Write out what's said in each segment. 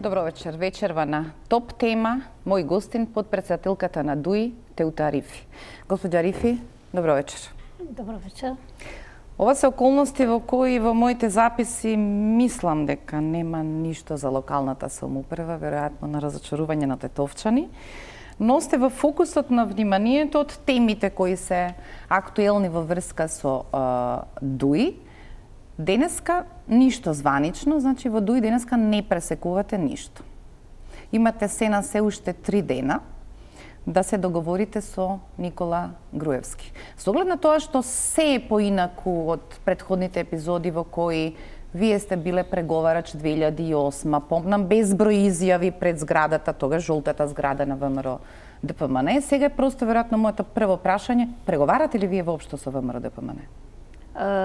Добро вечер. Вечерва на топ тема. Мој гостин, подпредседателката на ДУИ, Теута Арифи. Господја Арифи, добро вечер. Добро вечер. Ова се околности во кои во моите записи мислам дека нема ништо за локалната самоуправа, веројатно на разочарување на тетовчани, но сте во фокусот на вниманието од темите кои се актуелни во врска со ДУИ. Денеска ништо званично, значи во ДУИ денеска не пресекувате ништо. Имате се на се уште 3 дена да се договорите со Никола Груевски. Со оглед на тоа што се е поинаку од претходните епизоди во кои вие сте биле преговарач 2008, помнам безброј изјави пред зградата, тогаш жолтата зграда на ВМРО ДПМН. Сега е просто веројатно моето прво прашање, преговарате ли вие воопшто со ВМРО ДПМН?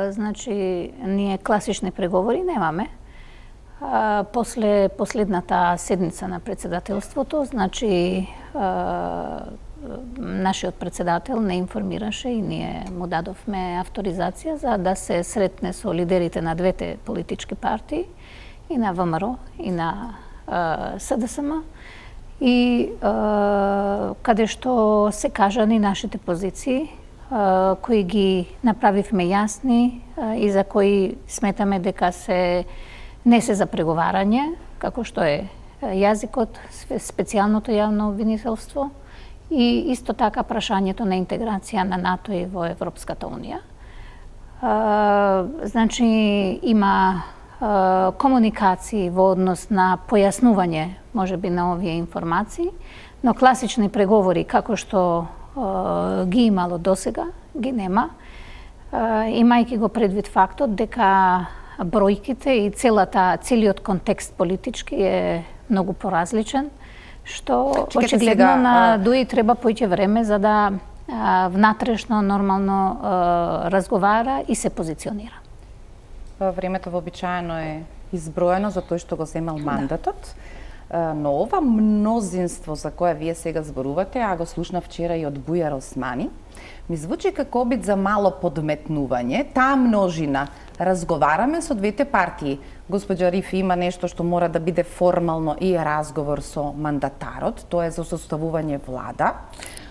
Значи, ние класични преговори немаме. После последната седница на председателството, значи нашиот председател не информираше и ние му дадовме авторизација за да се сретне со лидерите на двете политички партии, и на ВМРО, и на СДСМ, и каде што се кажани нашите позиции, кои ги направивме јасни и за кои сметаме дека не се за преговарање, како што е јазикот, специјалното јавно обвинителство и исто така прашањето на интеграција на НАТО и во Европската унија. Значи, има комуникации во однос на појаснување, можеби, на овие информации, но класични преговори, како што ги имало досега, ги нема, имајќи го предвид фактот дека бројките и целиот контекст политички е многу поразличен, што очигледно на ДУИ треба поиќе време за да внатрешно, нормално разговара и се позиционира. Времето вообичаено е изброено за тој што го земал мандатот. Но ова мнозинство за кое вие сега зборувате, а го слушнав вчера и од Бујар Османи, ми звучи како обид за мало подметнување. Таа множина, разговараме со двете партии. Господја Арифи, има нешто што мора да биде формално и разговор со мандатарот, тоа е за составување влада.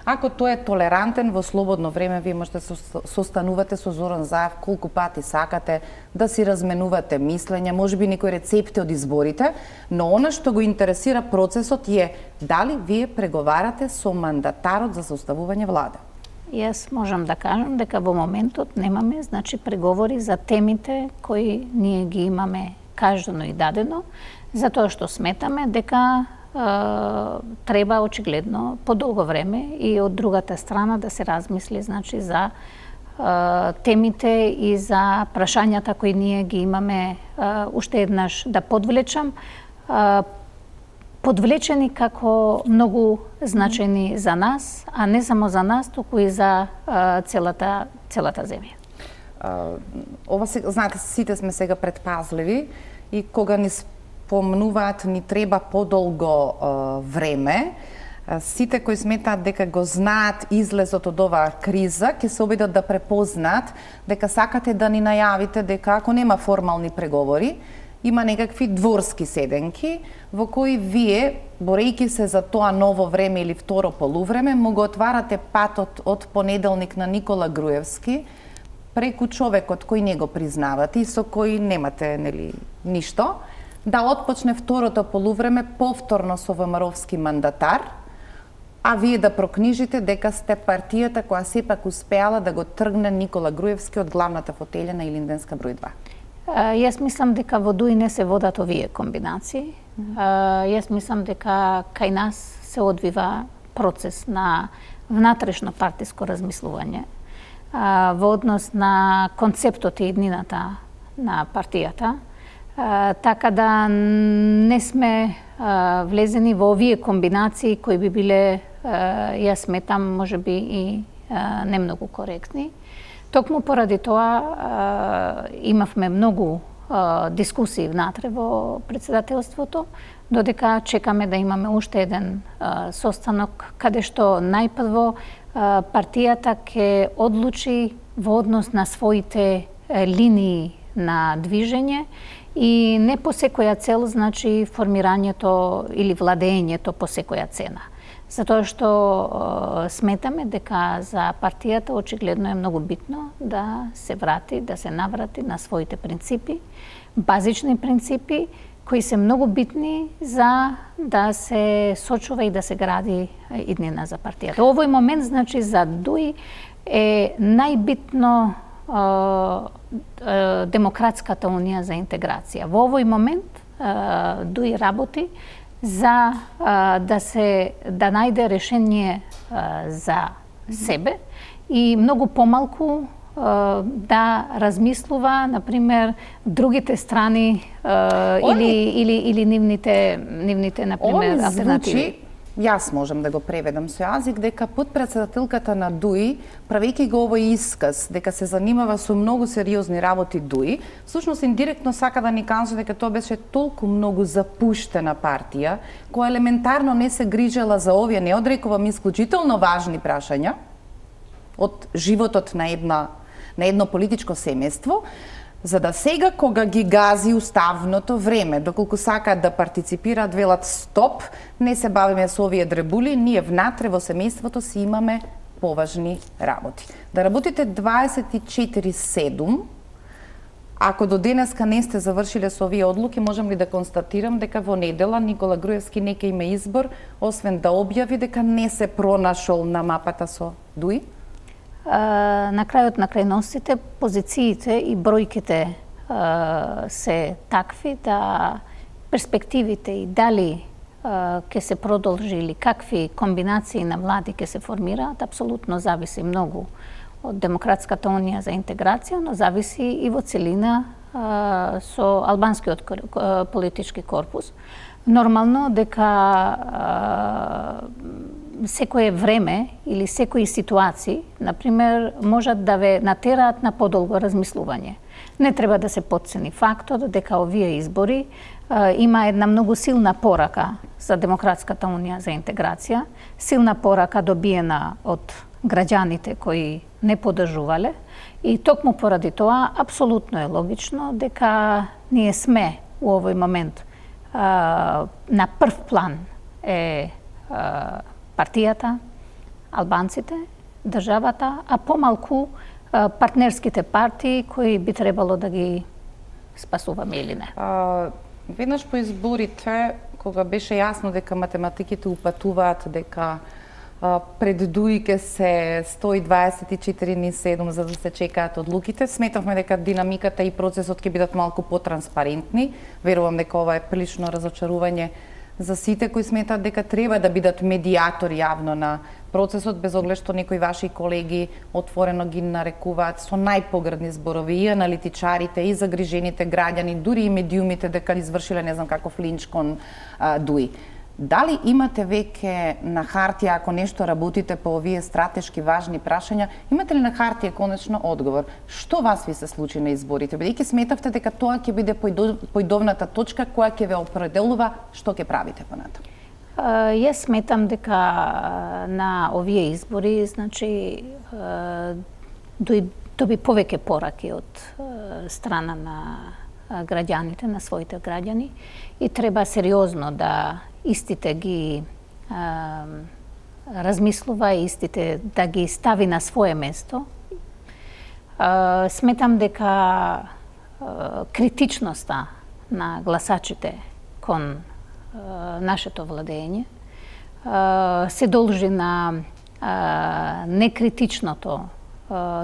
Ако тој е толерантен, во слободно време вие можете состанувате со Зоран Заев колку пати сакате, да си разменувате мислења, можеби некои рецепти од изборите, но она што го интересира процесот е дали вие преговарате со мандатарот за составување влада. Јас можам да кажам дека во моментот немаме, значи, преговори за темите кои ние ги имаме кажано и дадено, затоа што сметаме дека треба очигледно подолго време и од другата страна да се размисли, значи, за темите и за прашањата кои ние ги имаме, уште еднаш да подвлечам, подвлечени како многу значајни за нас, а не само за нас, туку и за целата земја. Ова се, знаете, сите сме сега предпазливи и кога ни спомнуваат ни треба подолго време, сите кои сметаат дека го знаат излезот од оваа криза, ќе се обидат да препознаат дека сакате да ни најавите дека ако нема формални преговори, има некакви дворски седенки во кои вие, борејќи се за тоа ново време или второ полувреме, му го отварате патот од понеделник на Никола Груевски преку човекот кој не го признавате и со кој немате, нели, ништо, да отпочне второто полувреме повторно со ВМРО-вски мандатар, а вие да прокнижите дека сте партијата која сепак успеала да го тргне Никола Груевски од главната фотелја на Илинденска број 2. Јас мислам дека во ДУИ не се водат овие комбинации. Јас мислам дека кај нас се одвива процес на внатрешно партиско размислување во однос на концептот и иднината на партијата, така да не сме влезени во овие комбинации кои би биле, јас сметам, можеби и не многу коректни. Токму поради тоа имавме многу дискусии внатре во председателството, додека чекаме да имаме уште еден состанок каде што најпрво партијата ќе одлучи во однос на своите линии на движење и не по секоја цел, значи формирањето или владењето по секоја цена. Затоа што сметаме дека за партијата очигледно е многу битно да се врати, да се наврати на своите принципи, базични принципи, кои се многу битни за да се сочува и да се гради иднина за партијата. Овој момент, значи, за ДУИ е најбитно Демократската унија за интеграција. Во овој момент ДУИ работи за да најде решение за себе и многу помалку да размислува, например, другите страни или нивните, например, алтернативи. Јас можам да го преведам со јазик, дека подпредседателката на ДУИ, правејќи го овој исказ, дека се занимава со многу сериозни работи ДУИ, всушност индиректно сака да ни каже дека тоа беше толку многу запуштена партија, која елементарно не се грижела за овие, не одрекувам, исклучително важни прашања од животот на едно политичко семејство, за да сега, кога ги гази уставното време, доколку сакаат да партиципираат, велат стоп, не се бавиме со овие дребули, ние внатре во семејството си имаме поважни работи. Да работите 24/7, ако до денеска не сте завршиле со овие одлуки, можам ли да констатирам дека во недела Никола Груевски не ќе има избор, освен да објави дека не се пронашол на мапата со ДУИ? На крајот на крајностите, позициите и бројките се такви да перспективите и дали ќе се продолжи или какви комбинации на влади ќе се формираат, апсолутно зависи многу од Демократската унија за интеграција, но зависи и во целина со албанскиот политички корпус. Нормално дека секое време или секои ситуации, например, можат да ве натераат на подолго размислување. Не треба да се потцени фактот дека овие избори има една многу силна порака за Демократската унија за интеграција, силна порака добиена од граѓаните кои не поддржувале и токму поради тоа апсолутно е логично дека ние сме у овој момент на прв план е партијата, албанците, државата, а помалку партнерските партии кои би требало да ги спасуваме или не. Веднаш по изборите, кога беше јасно дека математиките упатуваат дека пред ДУИ ке се 124/7 за да се чекаат одлуките, сметавме дека динамиката и процесот ќе бидат малку потранспарентни. Верувам дека ова е прилично разочарување за сите кои сметаат дека треба да бидат медијатори јавно на процесот, без оглед што некои ваши колеги отворено ги нарекуваат со најпогрдни зборови и аналитичарите, и загрижените граѓани, дури и медиумите дека извршиле не знам каков линч кон ДУИ. Дали имате веќе на хартија, ако нешто работите по овие стратешки важни прашања, имате ли на хартија конечно одговор? Што вас ви се случи на изборите? Бидејќи сметавте дека тоа ќе биде поидовната точка која ќе ве определува што ќе правите понатаму? Јас сметам дека на овие избори, значи, доби повеќе пораки од страна на граѓаните, на своите граѓани и треба сериозно да истите ги размислува, истите да ги стави на свое место. Сметам дека критичноста на гласачите кон нашето владење се должи на некритичното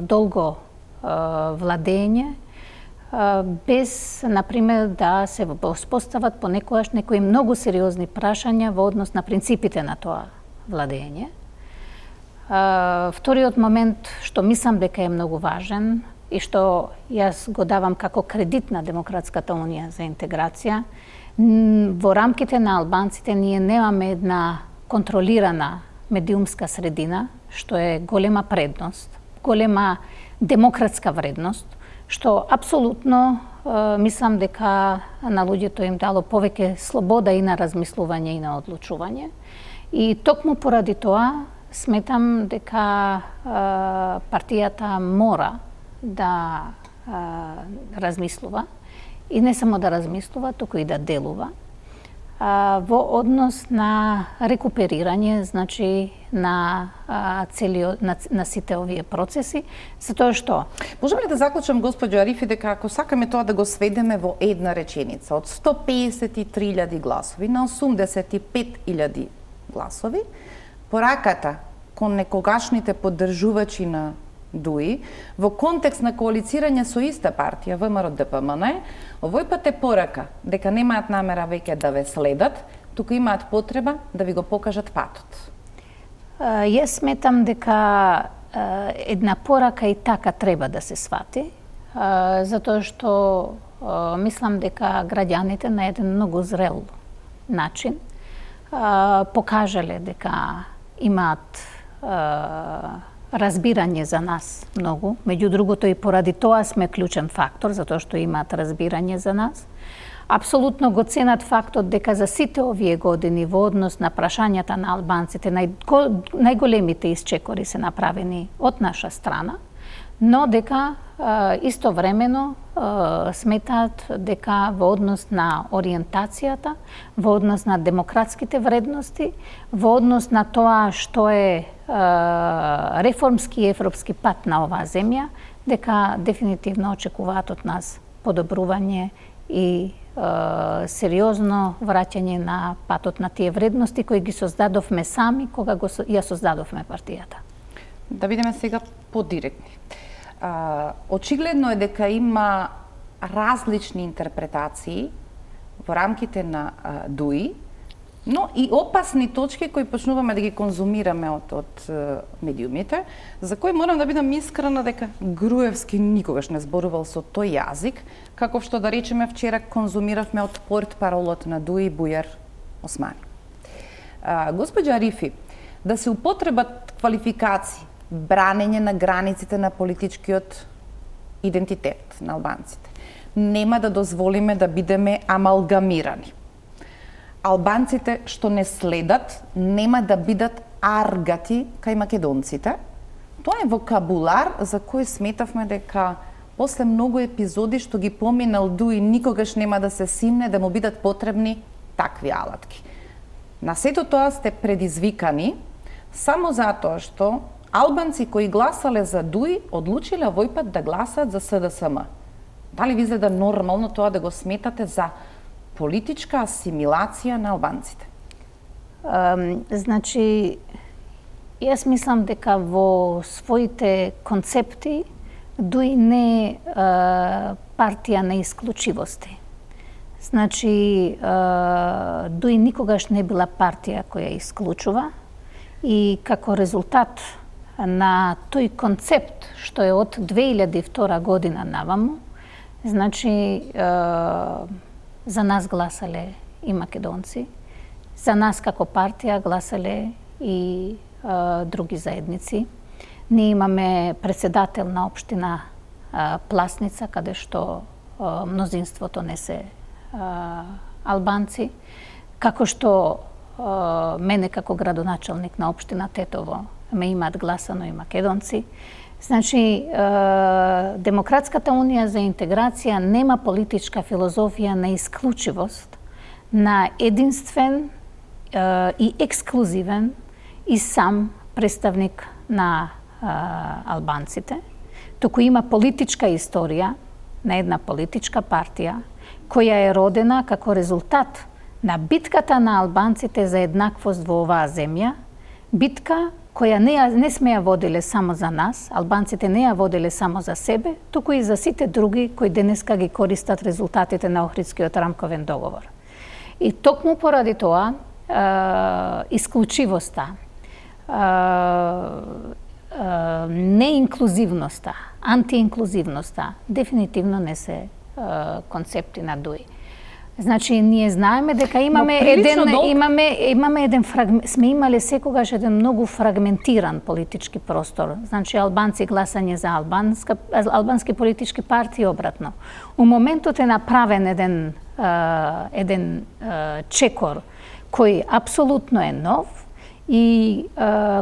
долго владење, без, например, да се воспостават понекогаш некои многу сериозни прашања во однос на принципите на тоа владење. Вториот момент, што мислам дека е многу важен и што јас го давам како кредит на Демократската унија за интеграција, во рамките на албанците ние немаме една контролирана медиумска средина, што е голема предност, голема демократска вредност, што апсолутно мислам дека на луѓето им дало повеќе слобода и на размислување и на одлучување. И токму поради тоа сметам дека партијата мора да размислува и не само да размислува, туку и да делува во однос на рекуперирање, значи на на сите овие процеси, затоа што можеме ли да заклучам, госпоѓо Арифи, дека ако сакаме тоа да го сведеме во една реченица, од 153.000 гласови на 85.000 гласови, пораката кон некогашните поддржувачи на ДУИ во контекст на коалицирање со иста партија ВМРО-ДПМН, овој пат е порака дека немаат намера веќе да ве следат, туку имаат потреба да ви го покажат патот. Јас сметам дека една порака и така треба да се свати, затоа што мислам дека граѓаните на еден многу зрел начин покажале дека имаат разбирање за нас многу. Меѓу другото и поради тоа сме клучен фактор, затоа што имаат разбирање за нас. Апсолутно го ценат фактот дека за сите овие години во однос на прашањата на албанците најголемите исчекори се направени од наша страна, но дека истовремено сметаат дека во однос на ориентацијата, во однос на демократските вредности, во однос на тоа што е реформски и европски пат на оваа земја, дека дефинитивно очекуваат од нас подобрување и сериозно враќање на патот на тие вредности кои ги создадовме сами кога ја создадовме партијата. Да бидеме сега подиректни. Очигледно е дека има различни интерпретации во рамките на ДУИ, но и опасни точки кои почнуваме да ги конзумираме од медиумите, за кои морам да бидам искрена дека Груевски никогаш не зборувал со тој јазик, како што да речеме вчера конзумиравме од портпаролот на ДУИ Бујар Османи. Господја Арифи, да се употребат квалификации, бранење на границите на политичкиот идентитет на албанците, нема да дозволиме да бидеме амалгамирани. Албанците што не следат нема да бидат аргати кај македонците. Тоа е вокабулар за кој сметавме дека после многу епизоди што ги поминал ДУИ никогаш нема да се симне да му бидат потребни такви алатки. На сето тоа сте предизвикани само затоа што албанци кои гласале за ДУИ одлучиле овој пат да гласаат за СДСМ. Дали ви изгледа нормално тоа да го сметате за политичка асимилација на албанците? Значи, јас мислам дека во своите концепти ДУИ не е партија на исклучивости. Значи, ДУИ никогаш не била партија која исклучува и како резултат на тој концепт што е од 2002 година наваму, значи за нас гласале и македонци, за нас како партија гласале и други заедници. Ние имаме председател на општина Пласница, каде што мнозинството не се албанци, како што мене како градоначалник на општина Тетово ме имаат гласано и македонци. Значи, Демократската унија за интеграција нема политичка филозофија на исклучивост, на единствен и ексклузивен и сам представник на албанците, туку има политичка историја на една политичка партија која е родена како резултат на битката на албанците за еднаквост во оваа земја, битка која не сме ја воделе само за нас, албанците не ја воделе само за себе, туку и за сите други кои денеска ги користат резултатите на Охридскиот рамковен договор. И токму поради тоа, исклучивоста, неинклузивноста, антиинклузивноста, дефинитивно не се концепти на ДУИ. Значи, ние знаеме дека имаме сме имале секогаш еден многу фрагментиран политички простор. Значи, албанци гласање за албански политички партии обратно. У моментот е направен еден чекор кој апсолутно е нов и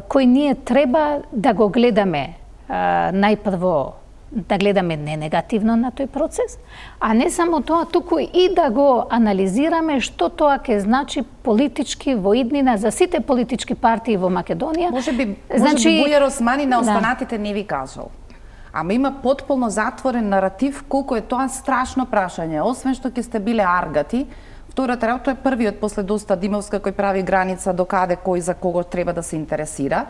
кој ние треба да го гледаме најпрво да гледаме не негативно на тој процес, а не само тоа, туку и да го анализираме што тоа ќе значи политички во иднина за сите политички партии во Македонија. Може би Бујар Османи на останатите не ви кажал. Ама има потполно затворен наратив колку е тоа страшно прашање. Освен што ќе сте биле аргати, втората работа е првиот после доста Димовска кој прави граница до каде кој за кого треба да се интересира.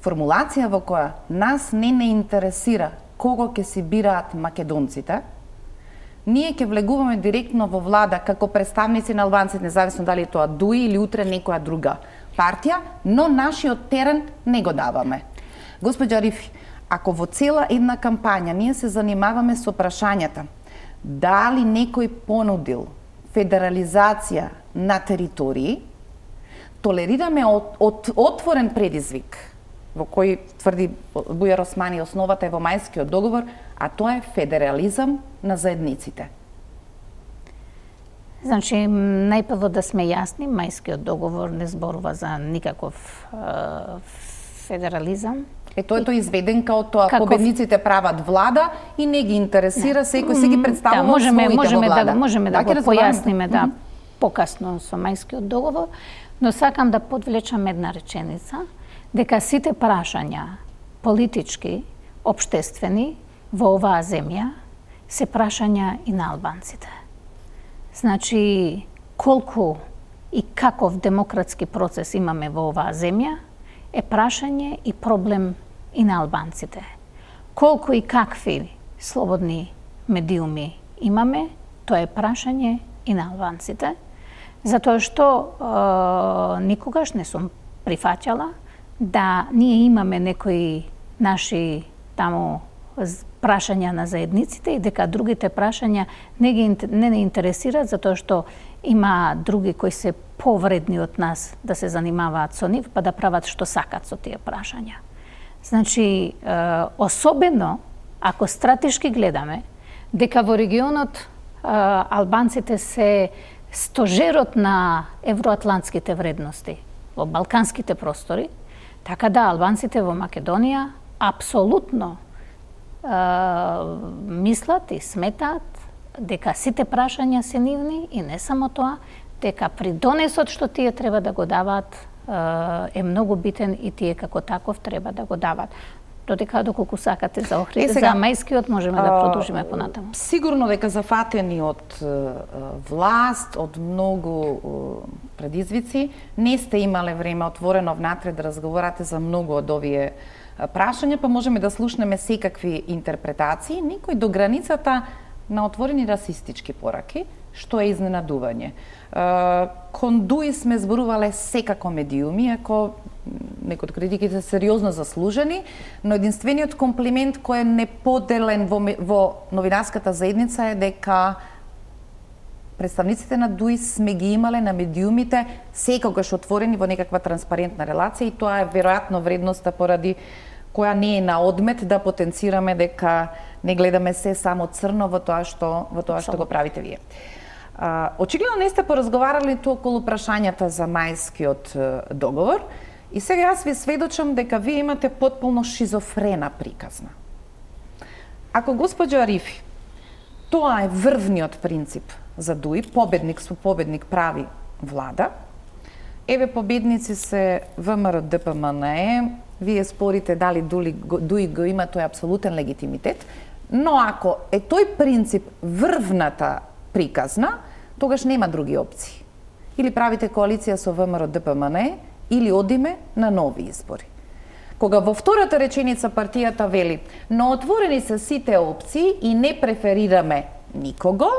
Формулација во која нас не интересира кого ќе си бираат македонците, ние ќе влегуваме директно во влада како представници на албанците, независно дали е тоа ДУИ или утре некоја друга партија, но нашиот терен не го даваме. Госпоѓа Арифи, ако во цела една кампања ние се занимаваме со прашањата дали некој понудил федерализација на територии, толерираме отворен предизвик во кој тврди Бујар Османи основата е во Мајскиот договор, а тоа е федерализам на заедниците. Значи, најпрво да сме јасни, Мајскиот договор не зборува за никаков федерализам. Тоа е изведен као тоа, победниците прават влада и не ги интересира, секој се ги представува своите во влада. Можеме да го појасниме покасно со Мајскиот договор, но сакам да подвлечам една реченица, дека сите прашања политички, општествени во оваа земја се прашања и на албанците. Значи, колку и каков демократски процес имаме во оваа земја е прашање и проблем и на албанците. Колку и какви слободни медиуми имаме, тоа е прашање и на албанците, затоа што никогаш не сум прифаќала да ние имаме некои наши таму прашања на заедниците и дека другите прашања не интересираат затоа што има други кои се повредни од нас да се занимаваат со нив, па да прават што сакат со тие прашања. Значи, особено ако стратешки гледаме дека во регионот албанците се стожерот на евроатлантските вредности во балканските простори, така да албанците во Македонија апсолутно мислат и сметаат дека сите прашања се нивни и не само тоа, дека придонесот што тие треба да го даваат е многу битен и тие како таков треба да го даваат. Доколку сакате за Охрид, за Мајскиот можеме да продолжиме понатаму. Сигурно дека зафатени од власт, од многу предизвици, не сте имале време отворено внатре да разговарате за многу од овие прашања, па можеме да слушнеме секакви интерпретации, некои до границата на отворени расистички пораки, што е изненадување. Кон ДУИ сме зборувале секако медиуми, ако некои од критиките се сериозно заслужени, но единствениот комплимент кој е неподелен во новинарската заедница е дека представниците на ДУИ сме ги имале на медиумите секогаш отворени во некаква транспарентна релација и тоа е веројатно вредноста поради која не е на одмет да потенцираме дека не гледаме се само црно во тоа што го правите вие. Очигледно не сте поразговарали тоа околу прашањата за Мајскиот договор и сега јас ви сведочам дека вие имате потполно шизофрена приказна. Ако госпоѓа Арифи, тоа е врвниот принцип за ДУИ, победник со победник прави влада, еве победници се ВМРО ДПМНЕ, вие спорите дали ДУИ го има тој апсолутен легитимитет, но ако е тој принцип врвната приказна, тогаш нема други опции. Или правите коалиција со ВМРО ДПМНЕ, или одиме на нови избори. Кога во втората реченица партијата вели, но отворени се сите опции и не преферираме никого,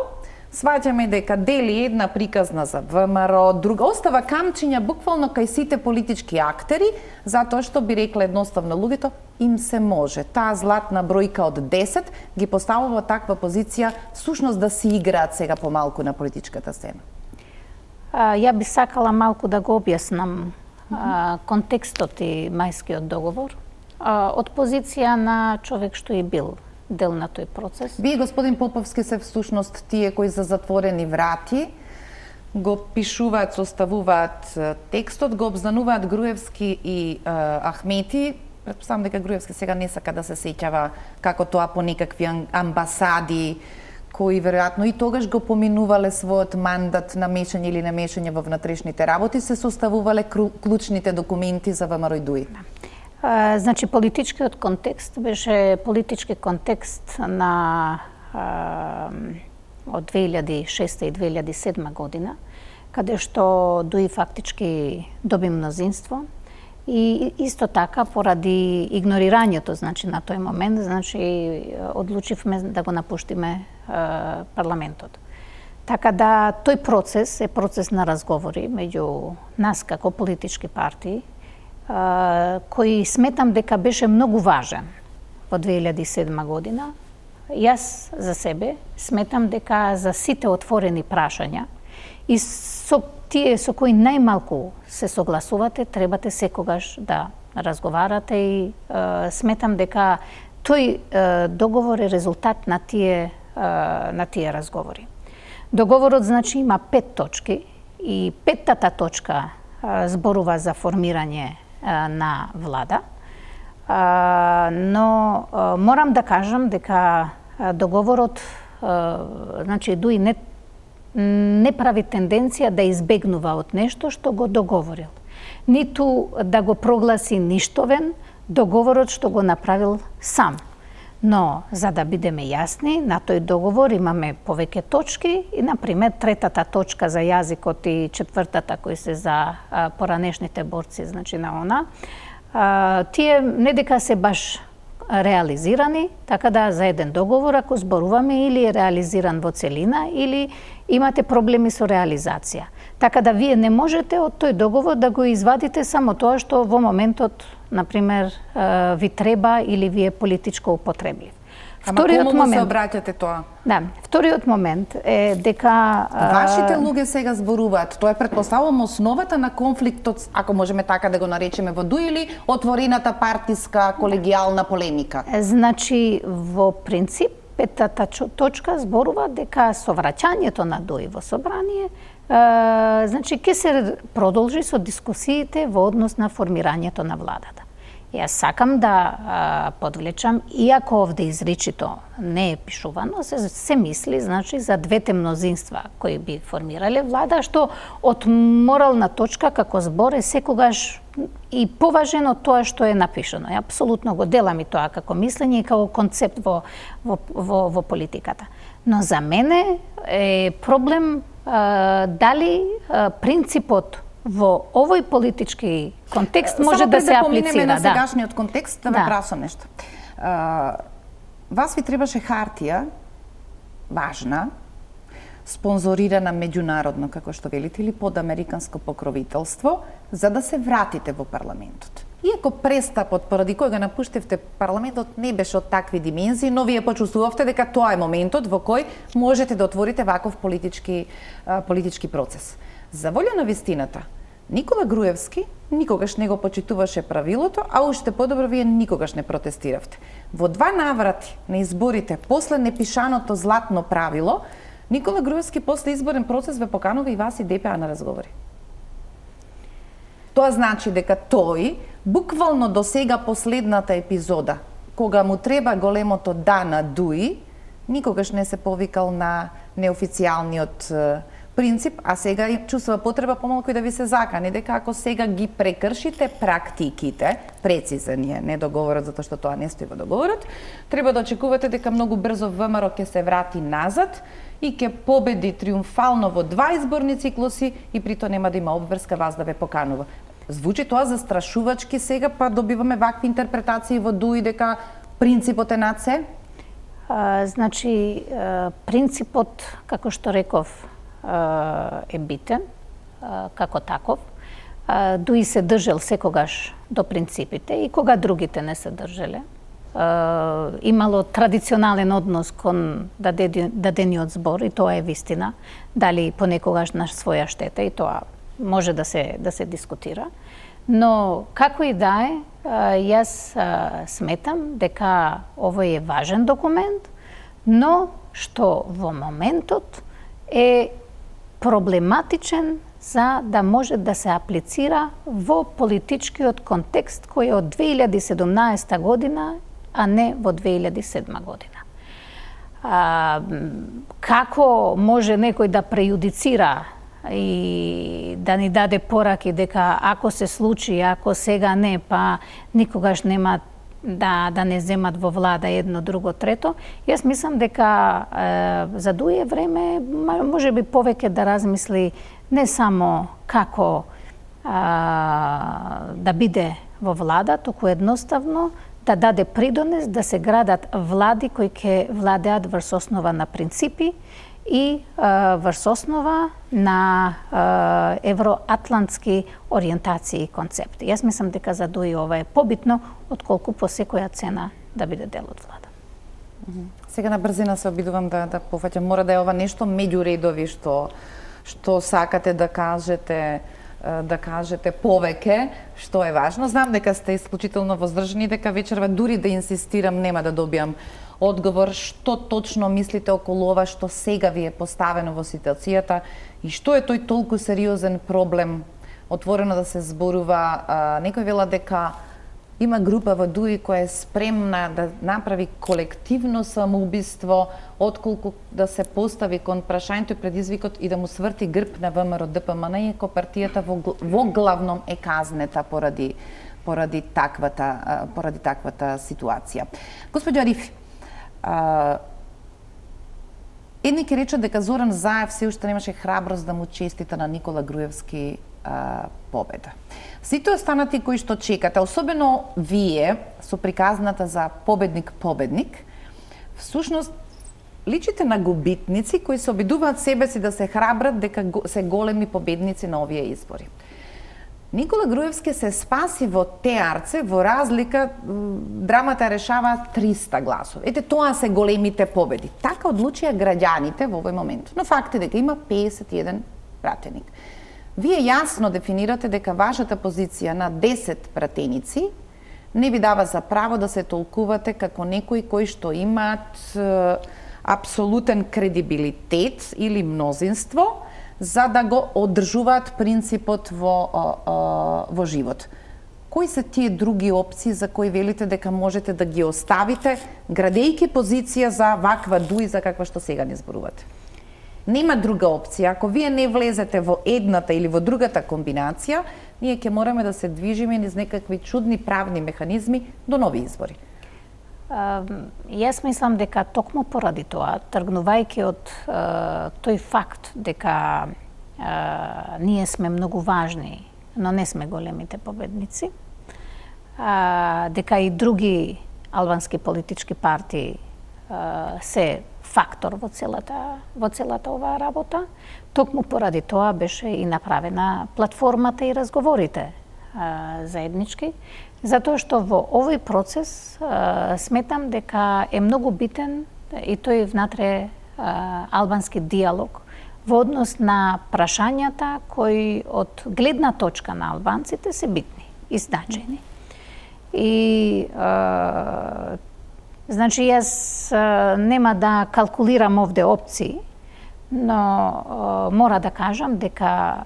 сваќаме дека дели една приказна за ВМРО, друга, остава камчиња буквално кај сите политички актери, затоа што би рекле едноставно луѓето, им се може. Таа златна бројка од 10 ги поставува таква позиција, всушност да си играат сега помалку на политичката сцена. Ја би сакала малку да го објаснам контекстот и Мајскиот договор од позиција на човек што е бил дел на тој процес. Вие, господин Поповски, се всушност тие кои за затворени врати го пишуваат, составуваат текстот, го обзнануваат Груевски и Ахмети Претпоставам дека Груевски сега не сака да се сеќава како тоа по некакви амбасади, кои веројатно и тогаш го поминувале својот мандат на мешање или немешање во внатрешните работи, се составувале клучните документи за ВМРО и ДУИ. Значи, политичкиот контекст беше политички контекст на од 2006 и 2007 година, каде што ДУИ фактички доби мнозинство и исто така поради игнорирањето, значи на тој момент, значи одлучивме да го напуштиме парламентот. Така да тој процес е процес на разговори меѓу нас како политички партии, кој сметам дека беше многу важен во 2007 година. Јас за себе сметам дека за сите отворени прашања и со тие со кои најмалку се согласувате, требате секогаш да разговарате и сметам дека тој договор е резултат на тие разговори. Договорот, значи, има 5 точки и 5-тата точка зборува за формирање на влада, но морам да кажам дека договорот, значи, ДУИ не прави тенденција да избегнува од нешто што го договорил. Ниту да го прогласи ништовен договорот што го направил сам. Но, за да бидеме јасни, на тој договор имаме повеќе точки и, например, 3-тата точка за јазикот и 4-тата кои се за поранешните борци, значи на она, тие не дека се баш реализирани, така да за еден договор, ако зборуваме, или е реализиран во целина, или имате проблеми со реализација. Така да вие не можете од тој договор да го извадите само тоа што во моментот, например, ви треба или ви е политичко употреблив. Вториот момент се обраќате тоа. Да, вториот момент е дека вашите луѓе сега зборуваат. Тоа е претпоставувам основата на конфликтот, ако можеме така да го наречеме во ДУИ, или отворената партиска колегијална полемика. Значи, во принцип, 5-тата точка зборува дека со враќањето на ДУИ во собрание, значи ќе се продолжи со дискусиите во однос на формирањето на владата. Јас сакам да подвлечам, иако овде изричито не е пишувано, се мисли, значи, за двете мнозинства кои би формирале влада, што од морална точка како збор е секогаш и поважен од тоа што е напишано. Ја апсолутно го делам и тоа како мислење и како концепт во политиката. Но за мене е проблем дали принципот во овој политички контекст може да се аплицира. Да поминеме на сегашниот контекст, да ве прашам нешто. Вас ви требаше хартија, важна, спонзорирана меѓународно, како што велите, или под американско покровителство, за да се вратите во парламентот. Иако престапот, поради кој го напуштивте парламентот, не беше од такви димензии, но вие почувствувавте дека тоа е моментот во кој можете да отворите ваков политички процес. За волја на вистината, Никола Груевски никогаш не го почитуваше правилото, а уште подобро вие никогаш не протестиравте. Во 2 наврати на изборите, после непишаното златно правило, Никола Груевски после изборен процес ве поканува и вас и ДПА на разговори. Тоа значи дека тој, буквално до сега последната епизода, кога му треба големото да на ДУИ, никогаш не се повикал на неофицијалниот принцип, а сега чувствува потреба помалку и да ви се закани, дека ако сега ги прекршите практиките, прецизен е не договорот, затоа што тоа не стои во договорот, треба да очекувате дека многу брзо ВМРО ќе се врати назад и ќе победи триумфално во 2 изборни циклуси и при тоа нема да има обврска вас да ве поканува. Звучи тоа застрашувачки сега, па добиваме вакви интерпретации во ДУИ дека принципот е над се? Значи, принципот, како што реков, е битен како таков. ДУИ се држел секогаш до принципите и кога другите не се држеле. Имало традиционален однос кон дадениот збор и тоа е вистина. Дали понекогаш на своја штета и тоа може да се дискутира. Но како и да е, јас сметам дека овој е важен документ, но што во моментот е проблематичен за да може да се аплицира во политичкиот контекст кој е од 2017 година, а не во 2007 година. Како може некој да преюдицира и да ни даде пораки дека ако се случи, ако сега не, па никогаш нема да не земат во влада едно, друго, трето. Јас мислам дека за дуе време може би повеќе да размисли не само како да биде во влада, туку едноставно да даде придонес да се градат влади кои ќе владеат врз основа на принципи и врз основа на евроатлантски ориентации и концепти. Јас мислам дека за дуи ова е побитно отколку по секоја цена да биде дел од влада. Сега на брзина се обидувам да пофаќам. Мора да е ова нешто меѓу редови што сакате да кажете повеќе, што е важно. Знам дека сте исклучително воздржани, дека вечерва дури да инсистирам нема да добиам одговор што точно мислите околу ова што сега ви е поставено во ситуацијата и што е тој толку сериозен проблем отворено да се зборува. Некој вела дека има група во ДУИ која е спремна да направи колективно самоубиство отколку да се постави кон прашањето и предизвикот и да му сврти грб на ВМРО ДПМН, иако партијата во главном е казнета поради таквата ситуација. Господјо Арифи, едни ќе речат дека Зоран Заев се уште немаше храброст да му честита на Никола Груевски победа. Сите останати кои што чекате, особено вие со приказната за победник, всушност личите на губитници кои се обидуваат себе си да се храбрат дека се големи победници на овие избори. Никола Груевски се спаси во теарце, во разлика драмата решава 300 гласови. Ете, тоа се големите победи. Така одлучија граѓаните во овој момент. Но факт е дека има 51 пратеник. Вие јасно дефинирате дека вашата позиција на 10 пратеници не ви дава за право да се толкувате како некои кои што имаат апсолутен кредибилитет или мнозинство за да го одржуваат принципот во живот. Кои се тие други опции за кои велите дека можете да ги оставите, градејќи позиција за ваква ДУИ за каква што сега не зборувате? Нема друга опција. Ако вие не влезете во едната или во другата комбинација, ние ќе мораме да се движиме низ некакви чудни правни механизми до нови избори. Јас мислам дека токму поради тоа, тргнувајќи од тој факт дека ние сме многу важни, но не сме големите победници, дека и други албански политички партии се фактор во целата оваа работа, токму поради тоа беше и направена платформата и разговорите заеднички, затоа што во овој процес сметам дека е многу битен и тој внатре албански диалог во однос на прашањата кои од гледна точка на албанците се битни и значајни. И значи јас нема да калкулирам овде опции, но мора да кажам дека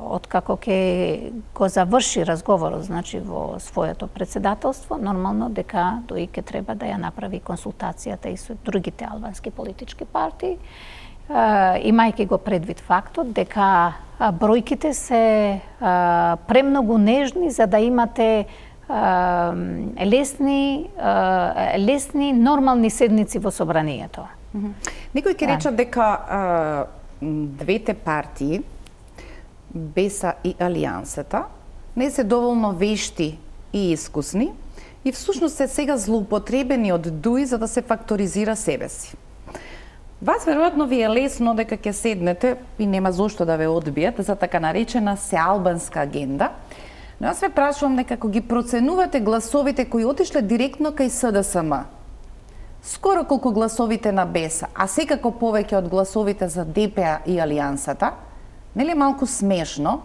откако ќе го заврши разговорот, значи во своето председателство, нормално дека тој ќе треба да ја направи консултацијата и со другите албански политички партии, имајќи го предвид фактот дека бројките се премногу нежни за да имате лесни нормални седници во собранието. Некој ќе рече дека двете партии, БЕСА и Алијансата, не се доволно вешти и искусни и всушност се сега злоупотребени од ДУИ за да се факторизира себе си. Вас веројатно ви е лесно дека ќе седнете и нема зошто да ве одбијат за така наречена сеалбанска агенда, но јас ве прашувам дека ако ги проценувате гласовите кои отишле директно кај СДСМ, скоро колку гласовите на БЕСА, а секако повеќе од гласовите за ДПА и Алијансата, нели малку смешно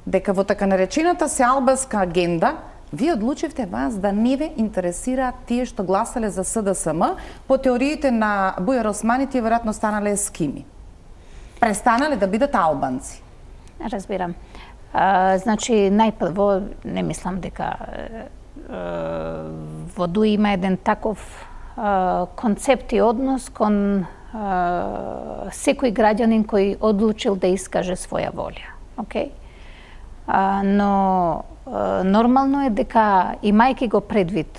дека во така наречената сеалбанска агенда вие одлучивте вас да не ве интересираат тие што гласале за СДСМ, по теориите на Бујар Османи тие веројатно станале ескими. Престанале да бидат албанци. Разбирам. Значи, најпрво, не мислам дека во ДУИ има еден таков концепт и однос кон секој граѓанин кој одлучил да искаже своја волја. Okay? Но нормално е дека, имајќи го предвид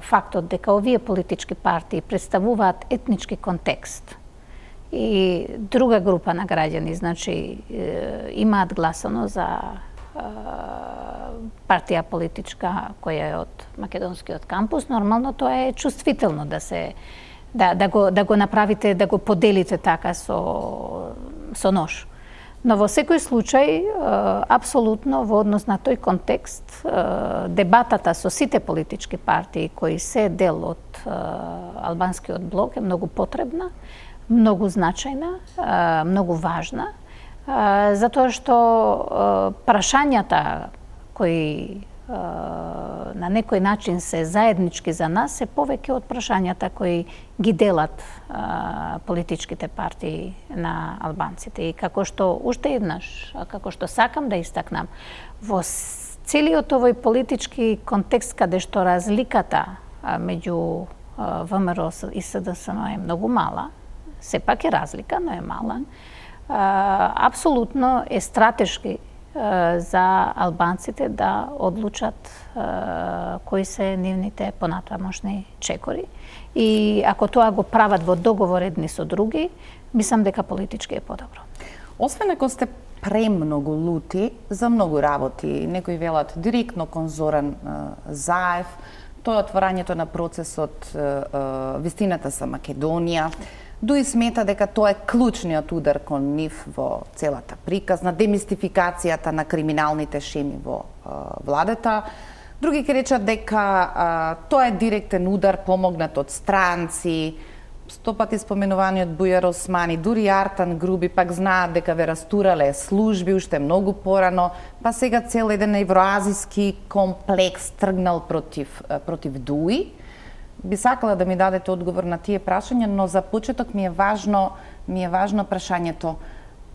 фактот дека овие политички партии представуваат етнички контекст и друга група на граѓани, значи имаат гласано за партија политичка која е од македонскиот кампус, нормално тоа е чувствително да го направите, да го поделите така со нож. Но во секој случај, апсолутно во однос на тој контекст, дебатата со сите политички партии кои се дел од албанскиот блок е многу потребна, многу значајна, многу важна, затоа што прашањата кои на некој начин се заеднички за нас се повеќе од прашањата кои ги делат политичките партии на албанците. И како што уште еднаш, како што сакам да истакнам, во целиот овој политички контекст каде што разликата меѓу ВМРО и СДСМ е многу мала, сепак е разлика, но е мала, апсолутно е стратешки за албанците да одлучат кои се нивните понатамошни чекори. И ако тоа го прават во договор едни со други, мислам дека политички е подобро. Освен ако сте премногу лути за многу работи, некои велат директно кон Зоран Заев, тоа е отворањето на процесот вистината со Македонија. ДУИ смета дека тоа е клучниот удар кон нив во целата приказна, демистификацијата на криминалните шеми во владата. Други ќе речат дека тоа е директен удар помогнат од странци, стопати споменуваниот Бујар Османи, дури Артан Груби пак знаат дека ве растурале служби уште многу порано, па сега цел еден евроазиски комплекс тргнал против ДУИ. Би сакала да ми дадете одговор на тие прашања, но за почеток ми е важно прашањето.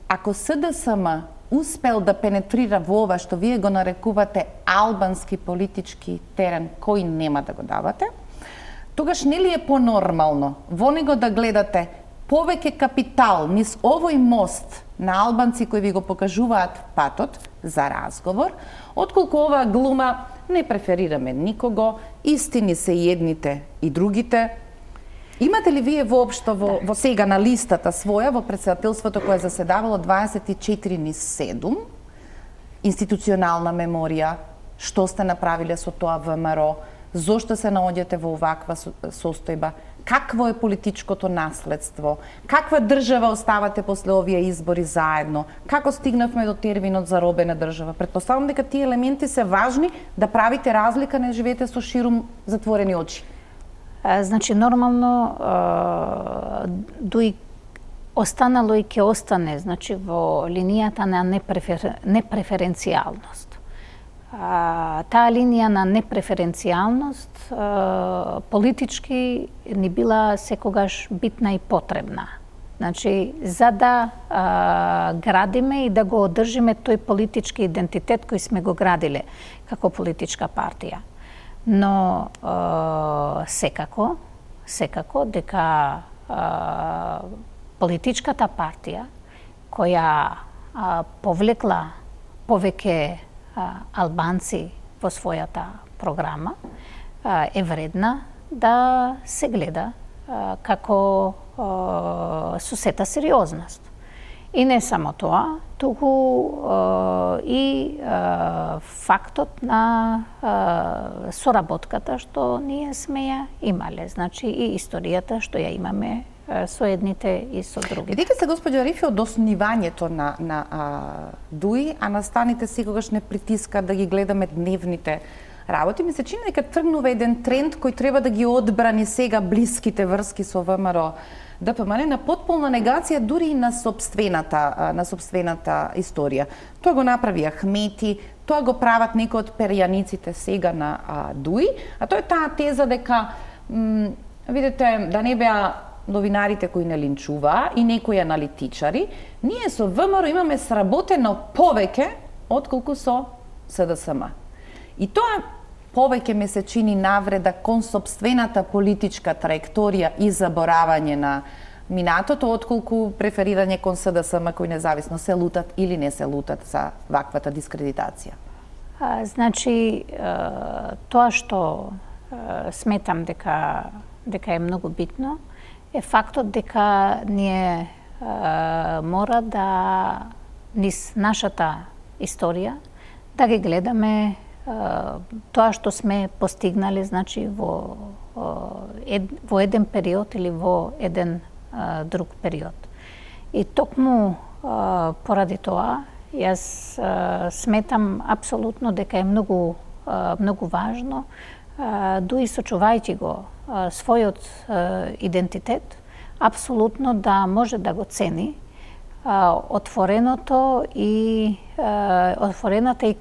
Ако СДСМ успел да пенетрира во ова што вие го нарекувате албански политички терен кој нема да го давате, тогаш нели е понормално во него да гледате повеќе капитал низ овој мост на албанци кои ви го покажуваат патот за разговор, отколку оваа глума не преферираме никого, истини се и едните и другите. Имате ли вие воопшто во сега на листата своја, во претседателството кое заседавало 24/7, институционална меморија, што сте направиле со тоа ВМРО, зошто се наоѓате во оваква состојба, какво е политичкото наследство, каква држава оставате после овие избори заедно, како стигнавме до терминот за робена држава. Претпоставам дека тие елементи се важни да правите разлика, не живеете со ширум затворени очи. Значи, нормално ДУИ останало и ќе остане, значи, во линијата на непреференцијалност. Таа линија на непреференцијалност политички ни била секогаш битна и потребна. Значи, за да градиме и да го одржиме тој политички идентитет кој сме го градиле како политичка партија. Но секако дека политичката партија која повлекла повеќе албанци во својата програма е вредна да се гледа како со сета сериозност. И не само тоа, туку и фактот на соработката што ние сме ја имале, значи и историјата што ја имаме со едните и со другите. Бидејќи се господјо Арифи од основањето на ДУИ, а настаните секогаш не притиска да ги гледаме дневните работи, ми се чини дека тргнува еден тренд кој треба да ги одбрани сега блиските врски со ВМРО ДПМН на потполна негација дури и на сопствената историја. Тоа го направи Ахмети, тоа го прават некои од перјаниците сега на ДУИ, а тоа е таа теза дека видите да не беа новинарите кои не линчуваа и некои аналитичари, ние со ВМРО имаме сработено повеќе отколку со СДСМ. И тоа повеќе ми се чини навреда кон сопствената политичка траекторија и заборавање на минатото, отколку преферирање кон СДСМ кои независно се лутат или не се лутат за ваквата дискредитација. Значи, тоа што сметам дека е многу битно е фактот дека ние мора да низ нашата историја да ги гледаме тоа што сме постигнали, значи во еден период или во еден друг период. И токму поради тоа јас сметам апсолутно дека е многу важно, дуи сочувајќи го својот идентитет, апсолутно да може да го цени отворената и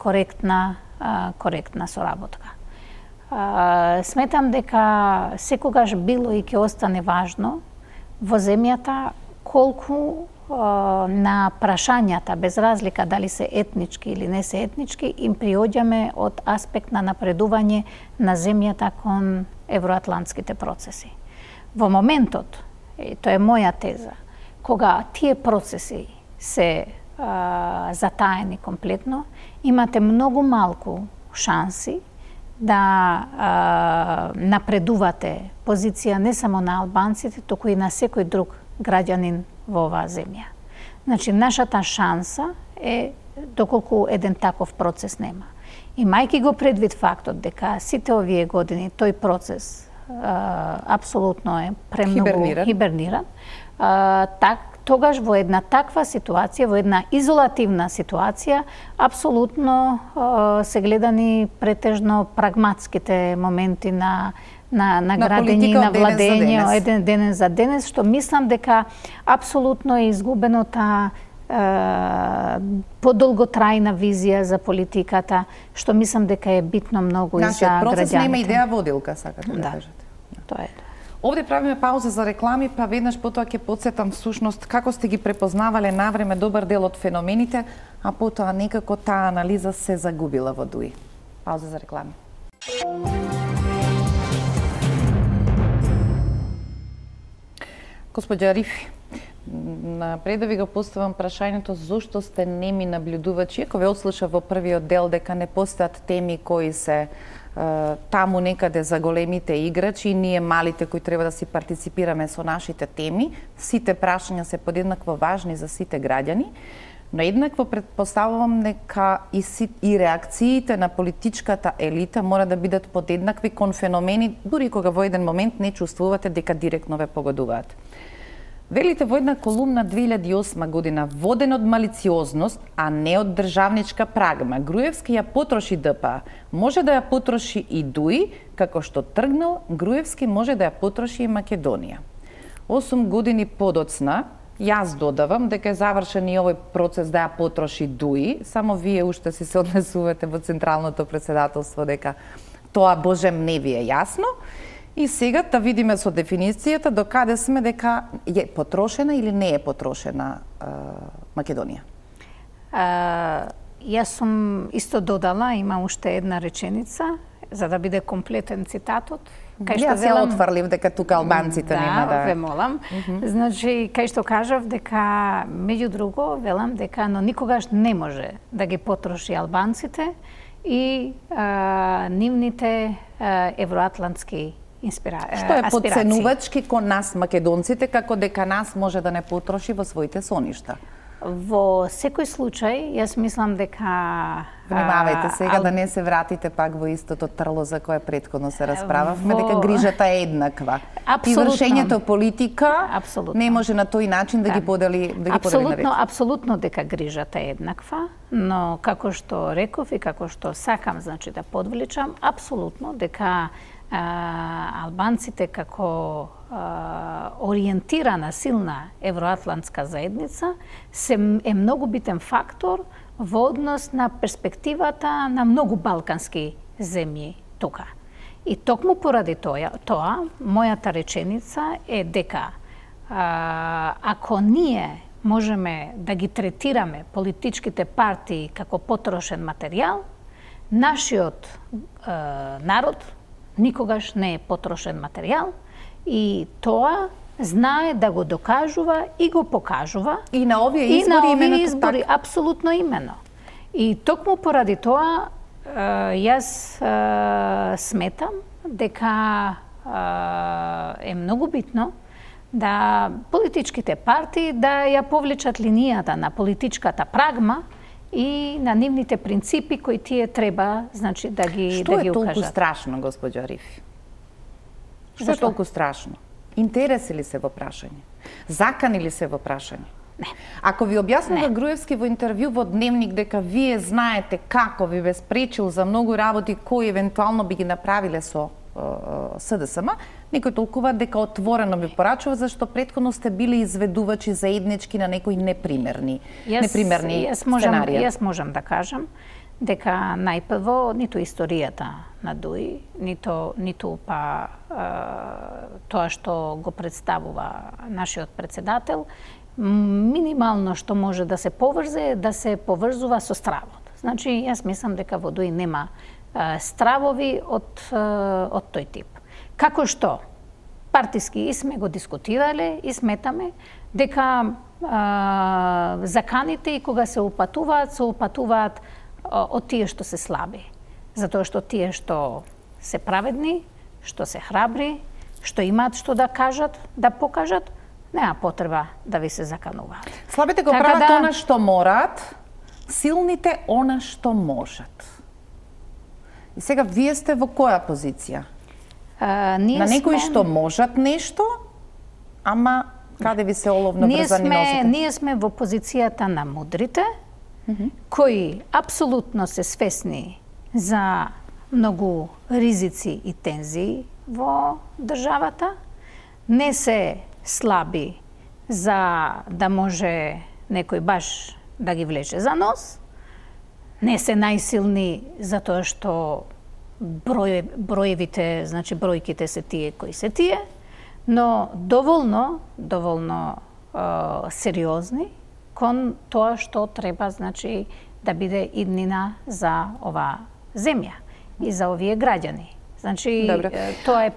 коректна соработка. Сметам дека секогаш било и ќе остане важно во земјата колку на прашањата, без разлика дали се етнички или не се етнички, им приоѓаме од аспект на напредување на земјата кон евроатлантските процеси. Во моментот, и тоа е моја теза, кога тие процеси се затаени комплетно, имате многу малку шанси да напредувате позиција не само на албанците, туку и на секој друг граѓанин во оваа земја. Значи, нашата шанса е доколку еден таков процес нема. Имајќи го предвид фактот дека сите овие години тој процес апсолутно е премногу хиберниран, тогаш во една таква ситуација, во една изолативна ситуација, апсолутно се гледани претежно прагматските моменти на градење и на владење еден денес за денес, што мислам дека апсолутно е изгубено таа подолготрајна визија за политиката, што мислам дека е битно многу и за граѓаните. Процес нема идеја водилка, сакате да кажете. Тоа е. Овде правиме пауза за реклами, па веднаш потоа ќе потсетам всушност како сте ги препознавале навреме добар дел од феномените, а потоа некако таа анализа се загубила во ДУИ. Пауза за реклами. Господја Арифи, пред да ви го поставам прашањето зошто сте неми наблюдувачи, ако ве отслушав во првиот дел дека не постојат теми кои се таму некаде за големите играчи и ние малите кои треба да си партиципираме со нашите теми, сите прашања се подеднакво важни за сите граѓани, но еднакво предпоставувам дека и реакциите на политичката елита мора да бидат подеднакви кон феномени, дури кога во еден момент не чувствувате дека директно ве погодуваат. Велите во една колумна 2008 година, воден од малициозност, а не од државничка прагма, Груевски ја потроши ДПА, може да ја потроши и ДУИ, како што тргнал, Груевски може да ја потроши и Македонија. 8 години подоцна, јас додавам дека е завршен и овој процес да ја потроши ДУИ, само вие уште си се однесувате во Централното председателство дека тоа божем не ви е јасно. И сега да видиме со дефиницијата до каде сме дека е потрошена или не е потрошена Македонија. Јас сум исто додала, има уште една реченица, за да биде комплетен цитатот. Јас ја отфрлив дека тука албанците нема да... Да, ве молам. Значи, кај што кажав дека, меѓу друго, велам дека, но никогаш не може да ги потроши албанците и нивните евроатлантски аспирации. Што е подценувачки кон нас македонците, како дека нас може да не потроши во своите соништа? Во секој случај, јас мислам дека... Внимавајте сега да не се вратите пак во истото трло за кое претходно се расправавме, дека грижата е еднаква. И вршењето политика не може на тој начин да ги подели на ред. Апсолутно дека грижата е еднаква, но како што реков и како што сакам, значи да подвличам, апсолутно дека албанците како ориентирана, силна евроатлантска заедница е многу битен фактор во однос на перспективата на многу балкански земји тука. И токму поради тоа, мојата реченица е дека ако ние можеме да ги третираме политичките партии како потрошен материјал, нашиот народ никогаш не е потрошен материјал и тоа знае да го докажува и го покажува. И на овие избори, апсолутно имено. И токму поради тоа јас сметам дека е многу битно да политичките партии да ја повлечат линијата на политичката прагма и на нивните принципи кои тие треба, значи, да ги Што да ги е толку укажат. страшно, госпоѓа Риф? Што е толку страшно? Интереси ли се во прашање? Закани ли се во прашање? Не. Ако ви објаснува Груевски во интервју во Дневник дека вие знаете како ви бе спречил за многу работи кои евентуално би ги направиле со СДСМ, некој толкува дека отворено ви порачува зашто претходно сте били изведувачи заеднички на некои непримерни сценарија. Јас можам да кажам дека најпрво ниту историјата на ДУИ, ниту па тоа што го представува нашиот председател, минимално што може да се поврзе, да се поврзува со стравот. Значи, јас мислам дека во ДУИ нема стравови од тој тип. Како што партиски и сме го дискутирале и сметаме дека заканите и кога се упатуваат од тие што се слаби. Затоа што тие што се праведни, што се храбри, што имаат што да кажат, да покажат, нема потреба да ви се закануваат. Слабите го прават она што мораат, силните она што можат. И сега вие сте во која позиција? На некои што можат нешто, ама каде ви се оловно врзани нозите? Ние сме во позицијата на мудрите, кои апсолутно се свесни за многу ризици и тензии во државата, не се слаби за да може некој баш да ги влече за нос, не се најсилни затоа што броевите, значи бројките се тие кои се тие, но доволно сериозни кон тоа што треба, значи, да биде иднина за оваа земја и за овие граѓани. Значи, тоа е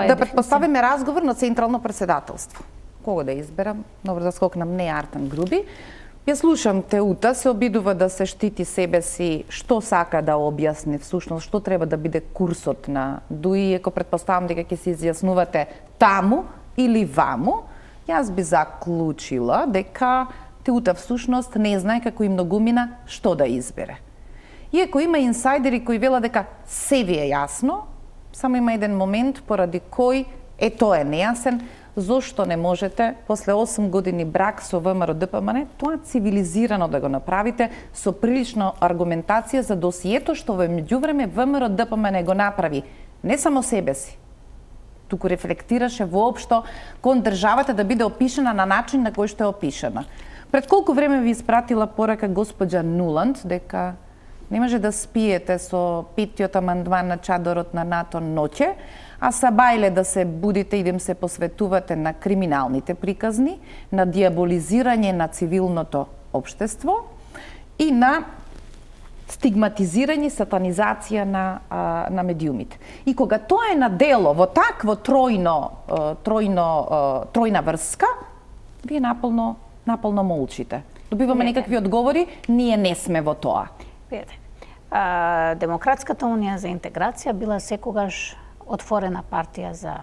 да предпоставиме разговор на Централно председателство. Кого да изберам? Добро да скокнам не Артан Груби. Ја слушам Теута, се обидува да се штити себе си, што сака да објасни всушност, што треба да биде курсот на ДУИ, ако предпоставам дека ќе се изјаснувате таму или ваму, јас би заклучила дека Теута всушност не знае како и многумина што да избере. Иако има инсайдери кои велат дека се ви е јасно, само има еден момент поради кој тоа е нејасен, зошто не можете после 8 години брак со ВМРО-ДПМН тоа цивилизирано да го направите со прилично аргументација за досието што во меѓувреме ВМРО-ДПМН го направи не само себе си, туку рефлектираше воопшто кон државата да биде опишана на начин на кој што е опишана. Пред колку време ви испратила порака госпоѓа Нуланд дека не може да спиете со 5-тиот амандман на чадорот на НАТО ноќе, а сабајле да се будите и да им се посветувате на криминалните приказни, на диаболизирање на цивилното општество и на стигматизирање, сатанизација на медиумите. И кога тоа е на дело во такво тројна врска, вие наполно молчите. Добиваме некакви одговори, ние не сме во тоа. Демократската унија за интеграција била секогаш отворена партија за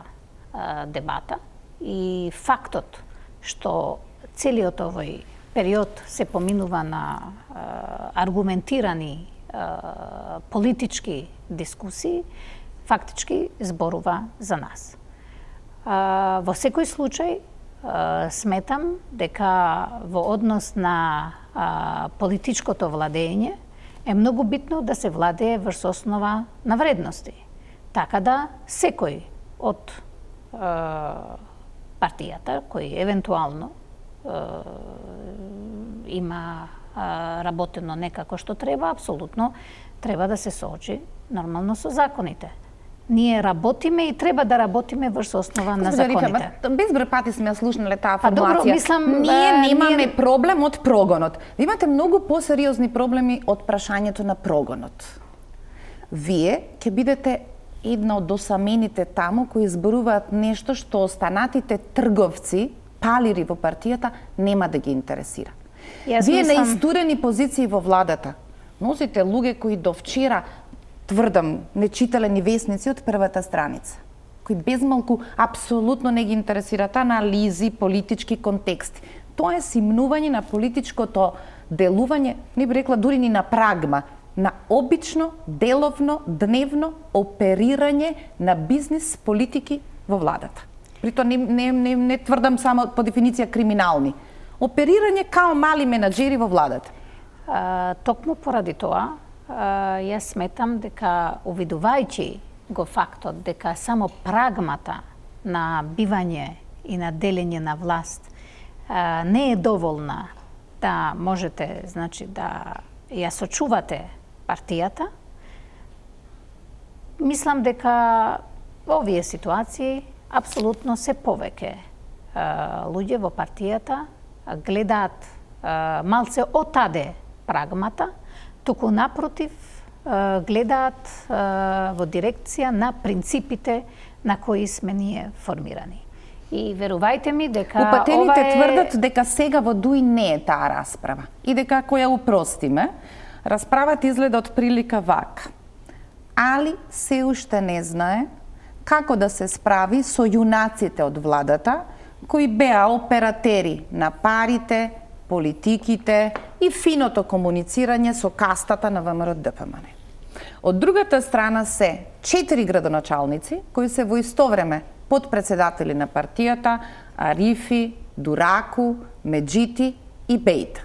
дебата и фактот што целиот овој период се поминува на аргументирани политички дискусии, фактички зборува за нас. Во секој случај сметам дека во однос на политичкото владење е многу битно да се владее врз основа на вредности. Така да секој од партијата кој евентуално има работено некако што треба, апсолутно треба да се соочи нормално со законите. Ние работиме и треба да работиме врз основа на законите. Безброј пати сме слушнале таа формулација. Добро, мислам, ние немаме проблем од прогонот. Ви имате многу посериозни проблеми од прашањето на прогонот. Вие ќе бидете една од осамените таму кои зборуваат нешто што останатите трговци, палири во партијата, нема да ги интересира. Вие на истурени позиции во владата носите луѓе кои до вчера, тврдам, не читале ни весници од првата страница, кои безмалку апсолутно не ги интересираат анализи, политички контексти. Тоа е симнување на политичкото делување, не би рекла дури ни на прагма, на обично, деловно, дневно оперирање на бизнис политики во владата. Прито не тврдам само по дефиниција криминални. Оперирање као мали менаџери во владата. Токму поради тоа, јас сметам дека увидувајќи го фактот дека само прагмата на бивање и на делење на власт не е доволна да можете, значи, да ја сочувате партијата, мислам дека овие ситуации апсолутно се повеќе луѓе во партијата гледаат малце отаде прагмата, туку напротив гледаат во дирекција на принципите на кои сме ние формирани. И верувајте ми дека упатените тврдат дека сега во ДУИ не е таа расправа и дека ако ја упростиме, расправата изгледа од прилика вака. Али се уште не знае како да се справи со јунаците од владата кои беа оператери на парите, политиките и финото комуницирање со кастата на ВМРО-ДПМН. Од другата страна се 4 градоначалници кои се во исто време подпредседатели на партијата, Арифи, Дураку, Меджити и Бејта.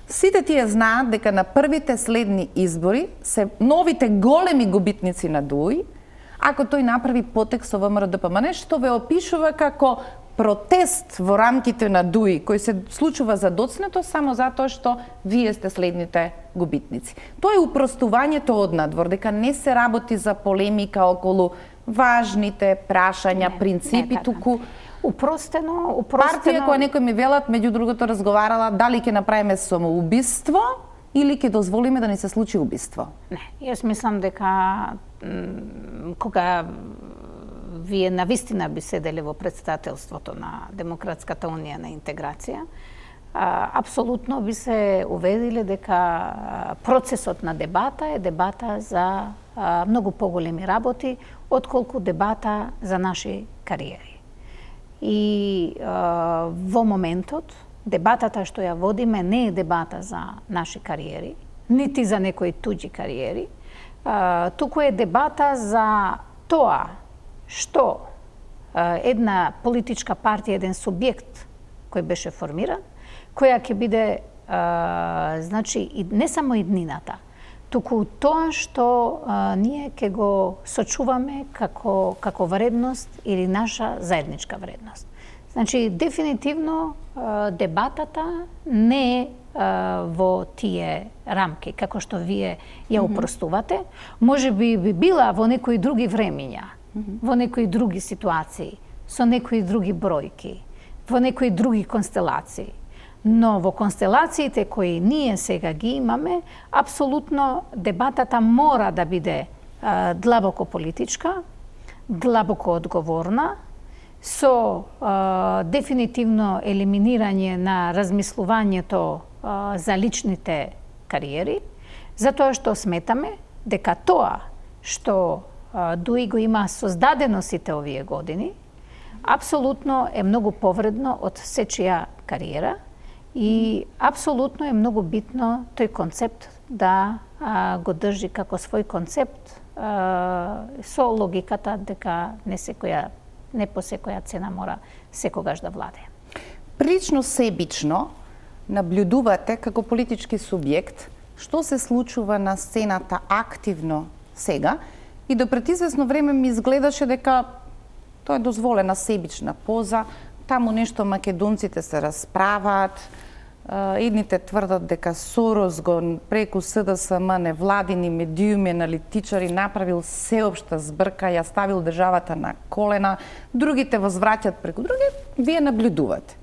Сите тие знаат дека на првите следни избори се новите големи губитници на ДУИ, ако тој направи потек со ВМРО-ДПМН, што ве опишува како протест во рамките на ДУИ, кој се случува за доцнето само затоа што вие сте следните губитници. Тоа е упростувањето од надвор, дека не се работи за полемика околу важните прашања, принципи, туку упростено. Партија која некој ми велат, меѓу другото разговарала дали ќе направиме самоубиство или ќе дозволиме да ни се случи убиство. Не, јас мислам дека кога вие навистина би седеле во претседателството на Демократската унија на интеграција, апсолутно би се уведиле дека процесот на дебата е дебата за многу поголеми работи, отколку дебата за наши кариери. И во моментот, дебатата што ја водиме не е дебата за наши кариери, нити за некои туѓи кариери, туку е дебата за тоа што една политичка партија, еден субјект кој беше формиран, која ќе биде, значи, не само иднината, туку тоа што ние ќе го сочуваме како вредност или наша заедничка вредност. Значи, дефинитивно дебатата не е во тие рамки, како што вие ја упростувате. Може би била во некои други времиња, во некои други ситуации, со некои други бројки, во некои други констелации. Но во констелациите кои ние сега ги имаме, апсолутно дебатата мора да биде длабоко политичка, длабоко одговорна, со дефинитивно елиминирање на размислувањето за личните кариери, затоа што сметаме дека тоа што ДУИ го има создадено сите овие години, апсолутно е многу повредно од сечија кариера и апсолутно е многу битно тој концепт да го држи како свој концепт со логиката дека не по секоја цена мора секогаш да владе. Прилично себично наблюдувате како политички субјект што се случува на сцената активно сега и до пред известно време ми изгледаше дека тоа е дозволена себична поза, таму нешто македонците се расправаат, Едните тврдат дека Сорос го преку СДСМ, невладини медиуми, аналитичари направил сеопшта збрка, ја ставил државата на колена, другите возвраќат преку други, вие наблюдувате.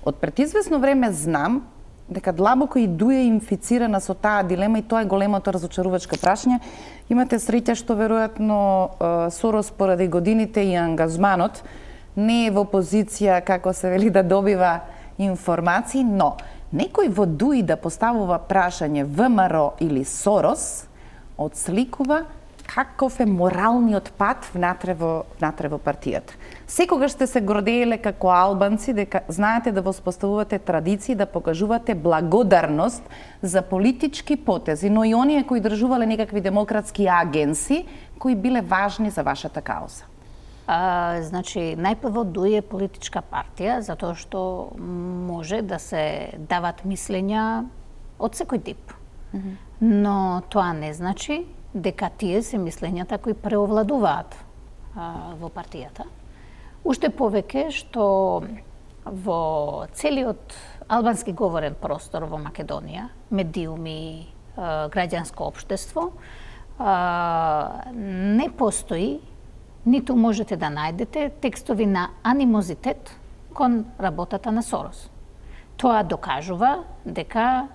Од пред извесно време знам дека длабоко и Дуја е инфицирана со таа дилема и тоа е големото разочарувачко прашање. Имате среќа што веројатно Сорос поради годините и ангажманот не е во позиција, како се вели, да добива информации, но некој во Дуи да поставува прашање ВМРО или Сорос, одсликува каков е моралниот пат внатре во партијата. Секогаш сте се гордееле како албанци дека знаете да воспоставувате традиции, да покажувате благодарност за политички потези, но и оние кои држувале некакви демократски агенси кои биле важни за вашата кауза. Значи, најпрво Дуи е политичка партија, затоа што може да се дават мислења од секој тип. Но тоа не значи дека тие се мислењата кои преовладуваат во партијата. Уште повеќе што во целиот албански говорен простор во Македонија, медиуми, граѓанско општество, не постои, ниту можете да најдете текстови на анимозитет кон работата на Сорос. Тоа докажува дека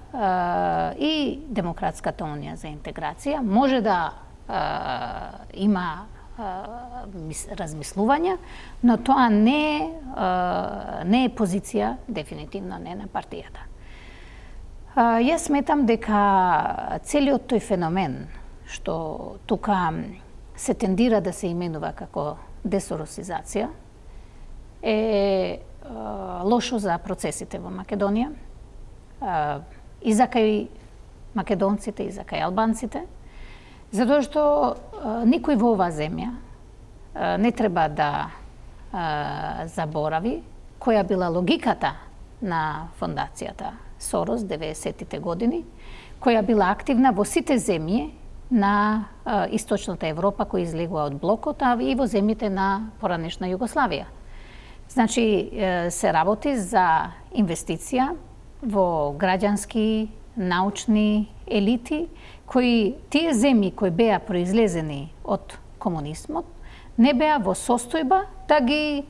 и Демократската унија за интеграција може да има размислувања, но тоа не е позиција, дефинитивно не на партијата. Јас сметам дека целиот тој феномен што тука се тендира да се именува како десоросизација е лошо за процесите во Македонија, и за кај македонците, и за кај албанците, затоа што никој во оваа земја не треба да заборави која била логиката на фондацијата Сорос 90-тите години, која била активна во сите земји на Источната Европа кои излегува од блокот, а и во земјите на поранешна Југославија. Значи, се работи за инвестиција во граѓански, научни елити, кои тие земји кои беа произлезени од комунизмот, не беа во состојба да ги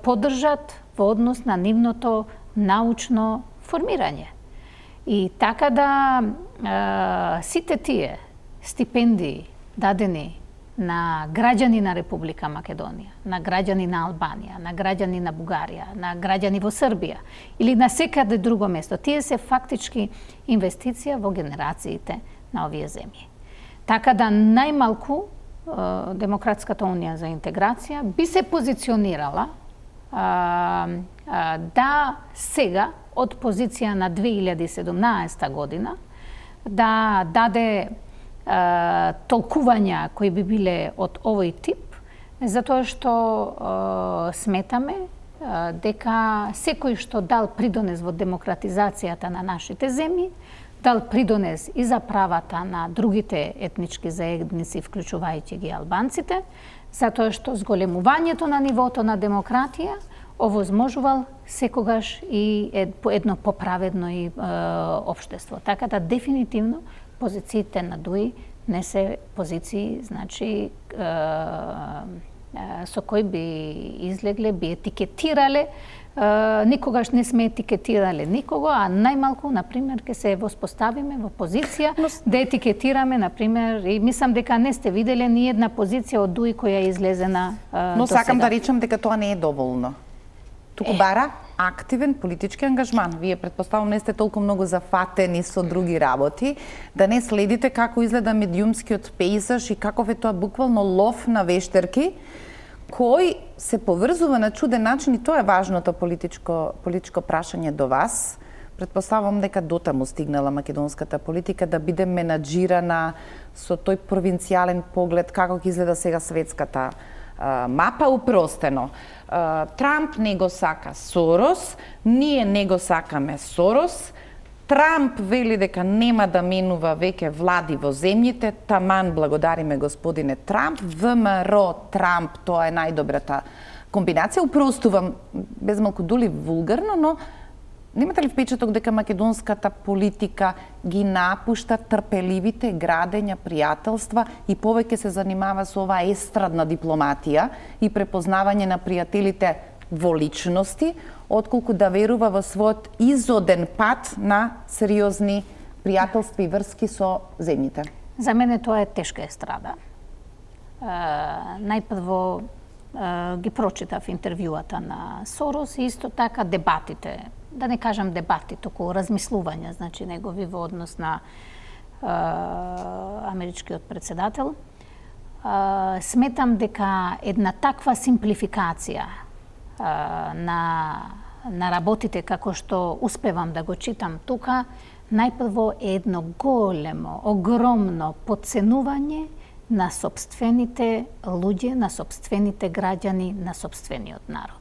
поддржат во однос на нивното научно формирање. И така да сите тие стипендии дадени на граѓани на Република Македонија, на граѓани на Албанија, на граѓани на Бугарија, на граѓани во Србија или на секаде друго место, тие се фактички инвестиција во генерациите на овие земји. Така да најмалку Демократската унија за интеграција би се позиционирала да сега од позиција на 2017 година да даде толкувања кои би биле од овој тип, затоа што сметаме дека секој што дал придонес во демократизацијата на нашите земји, дал придонес и за правата на другите етнички заедници, вклучувајќи ги албанците, затоа што зголемувањето на нивото на демократија овозможувал секогаш и едно поправедно и општество. Така да дефинитивно позициите на Дуи не се позиции, значи со кои би излегле, би етикетирале, никогаш не сме етикетирале никого, а најмалку, например, ке се воспоставиме во позиција да етикетираме, например, и мислам дека не сте виделе ни една позиција од Дуи која е излезена Но сакам да речам дека тоа не е доволно. Туку бара активен политички ангажман. Вие претпоставувам не сте толку многу зафатени со други работи, да не следите како изгледа медиумскиот пејзаж и каков е тоа буквално лов на вештерки, кој се поврзува на чуден начин, и тоа е важното политичко прашање до вас. Претпоставувам дека дотаму стигнала македонската политика да биде менаџирана со тој провинцијален поглед како ќе изгледа сега светската мапа. Упростено, Трамп не го сака Сорос, ние не го сакаме Сорос, Трамп вели дека нема да менува веќе влади во земјите, таман благодариме господине Трамп, ВМРО Трамп, тоа е најдобрата комбинација. Упростувам, без малку дули вулгарно, но Немате ли впечаток дека македонската политика ги напушта трпеливите градења пријателства и повеќе се занимава со оваа естрадна дипломатија и препознавање на пријателите во личности, отколку да верува во својот изоден пат на сериозни пријателства и врски со земјите? За мене тоа е тешка естрада. Најпрво ги прочитав интервјуата на Сорос и исто така дебатите, да не кажам дебати, току размислувања, значи негови во однос на америчкиот председател. Сметам дека една таква симплификација на работите како што успевам да го читам тука, најпрво е едно големо, огромно подценување на сопствените луѓе, на сопствените граѓани, на сопствениот народ.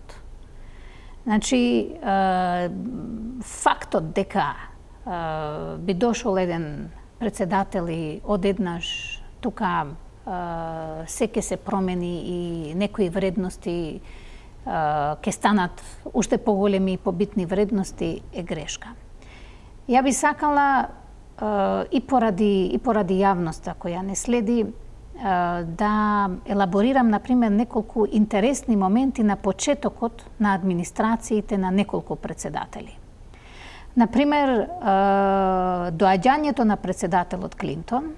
Значи, фактот дека би дошол еден председател и одеднаш тука се ќе се промени и некои вредности ќе станат уште поголеми и побитни вредности е грешка. Ја би сакала и поради јавноста која не следи да елаборирам, например, неколку интересни моменти на почетокот на администрациите на неколку председатели. Например, доаѓањето на председателот Клинтон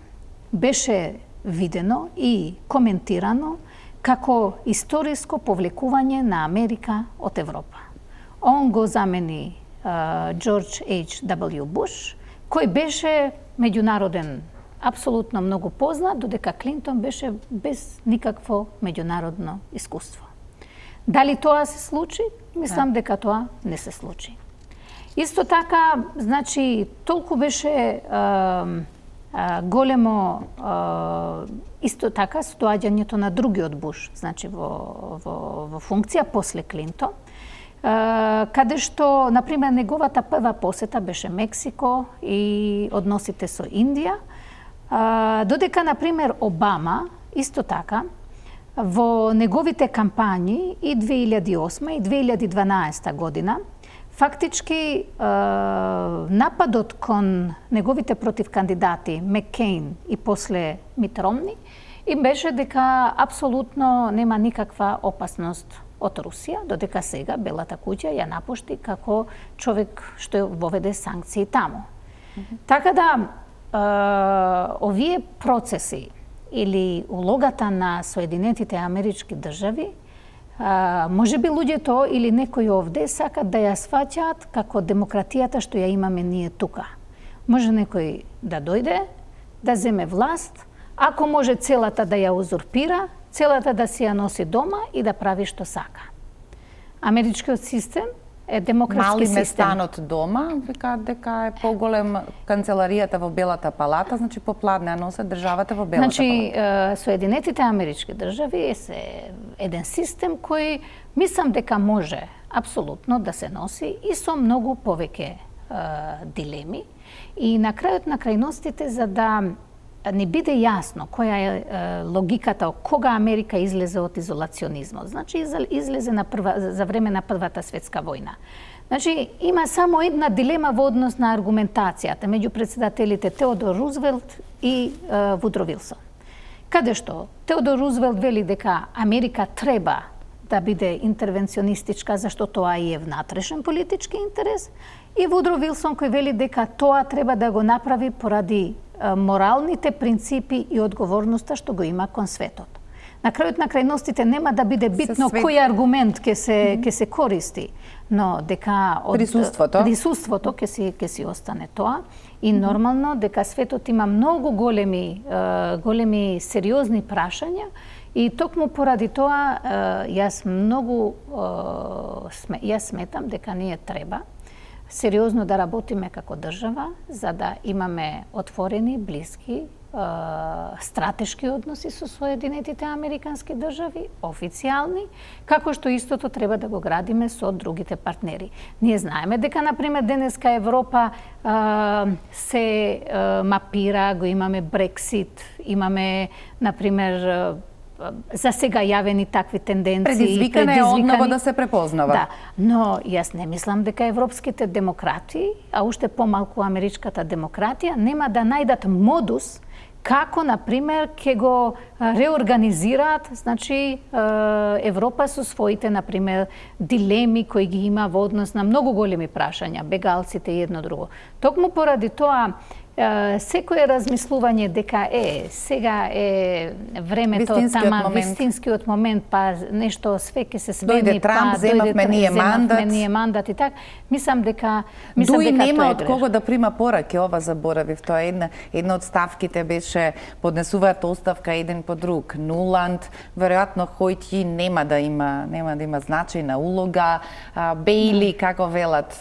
беше видено и коментирано како историско повлекување на Америка од Европа. Он го замени Джордж H.W. Буш, кој беше меѓународен апсолутно многу познат, додека Клинтон беше без никакво меѓународно искуство. Дали тоа се случи? Мислам дека тоа не се случи. Исто така, значи, толку беше големо исто така со доаѓањето на другиот Буш, значи во функција после Клинтон, каде што, например, неговата прва посета беше Мексико и односите со Индија, додека, например, Обама, исто така, во неговите кампањи и 2008 и 2012 година, фактички нападот кон неговите противкандидати Маккейн и после Мит Ромни им беше дека апсолутно нема никаква опасност од Русија, додека сега Белата куќа ја напушти како човек што воведе санкции таму. Така да, овие процеси или улогата на Соединетите Амерички држави, може би луѓето или некои овде сакат да ја сваќаат како демократијата што ја имаме ние тука. Може некој да дојде, да земе власт, ако може целата да ја узурпира, целата да си ја носи дома и да прави што сака. Америчкиот систем е демократски систем. Мали местанот дома, викаат дека е поголем канцеларијата во Белата палата, значи попладне ја носат државата во Белата значи, палата. Соединетите Амерички држави е еден систем кој мислам дека може апсолутно да се носи и со многу повеќе дилеми. И на крајот на крајностите, за да не биде јасно која е логиката кога Америка излезе од изолационизмот. Значи излезе за време на Првата светска војна. Значи има само една дилема во однос на аргументацијата меѓу председателите Теодор Рузвелт и Вудро Вилсон. Каде што Теодор Рузвелт вели дека Америка треба да биде интервенционистичка, зашто тоа и е внатрешен политички интерес, и Вудро Вилсон кој вели дека тоа треба да го направи поради моралните принципи и одговорноста што го има кон светот. На крајот на крајностите нема да биде битно кој аргумент ќе се користи, но дека од присуството ќе си остане тоа и нормално дека светот има многу големи сериозни прашања и токму поради тоа јас сметам дека ние треба сериозно да работиме како држава, за да имаме отворени, блиски, стратешки односи со Соединетите Американски држави, официјални, како што истото треба да го градиме со другите партнери. Ние знаеме дека, например, денеска Европа се мапира, го имаме Брексит, имаме, например, за сега јавени такви тенденции. Предизвикане е однова да се препознава. Да, но јас не мислам дека европските демократи, а уште помалку америчката демократија, нема да најдат модус како, например, ќе го реорганизираат, значи, Европа со своите, например, дилеми кои ги има во однос на многу големи прашања, бегалците и едно друго. Токму поради тоа, секое размислување дека сега е времето, вистинскиот момент, па нешто све ќе се смени, дојде Трамп, земавме ние мандат и так, мислам дека Дуи нема од кого да прима пораки, ова заборавив, тоа е една од ставките беше поднесуваат оставка еден по друг. Нуланд, веројатно Хојти нема да има значајна улога. Бейли, како велат,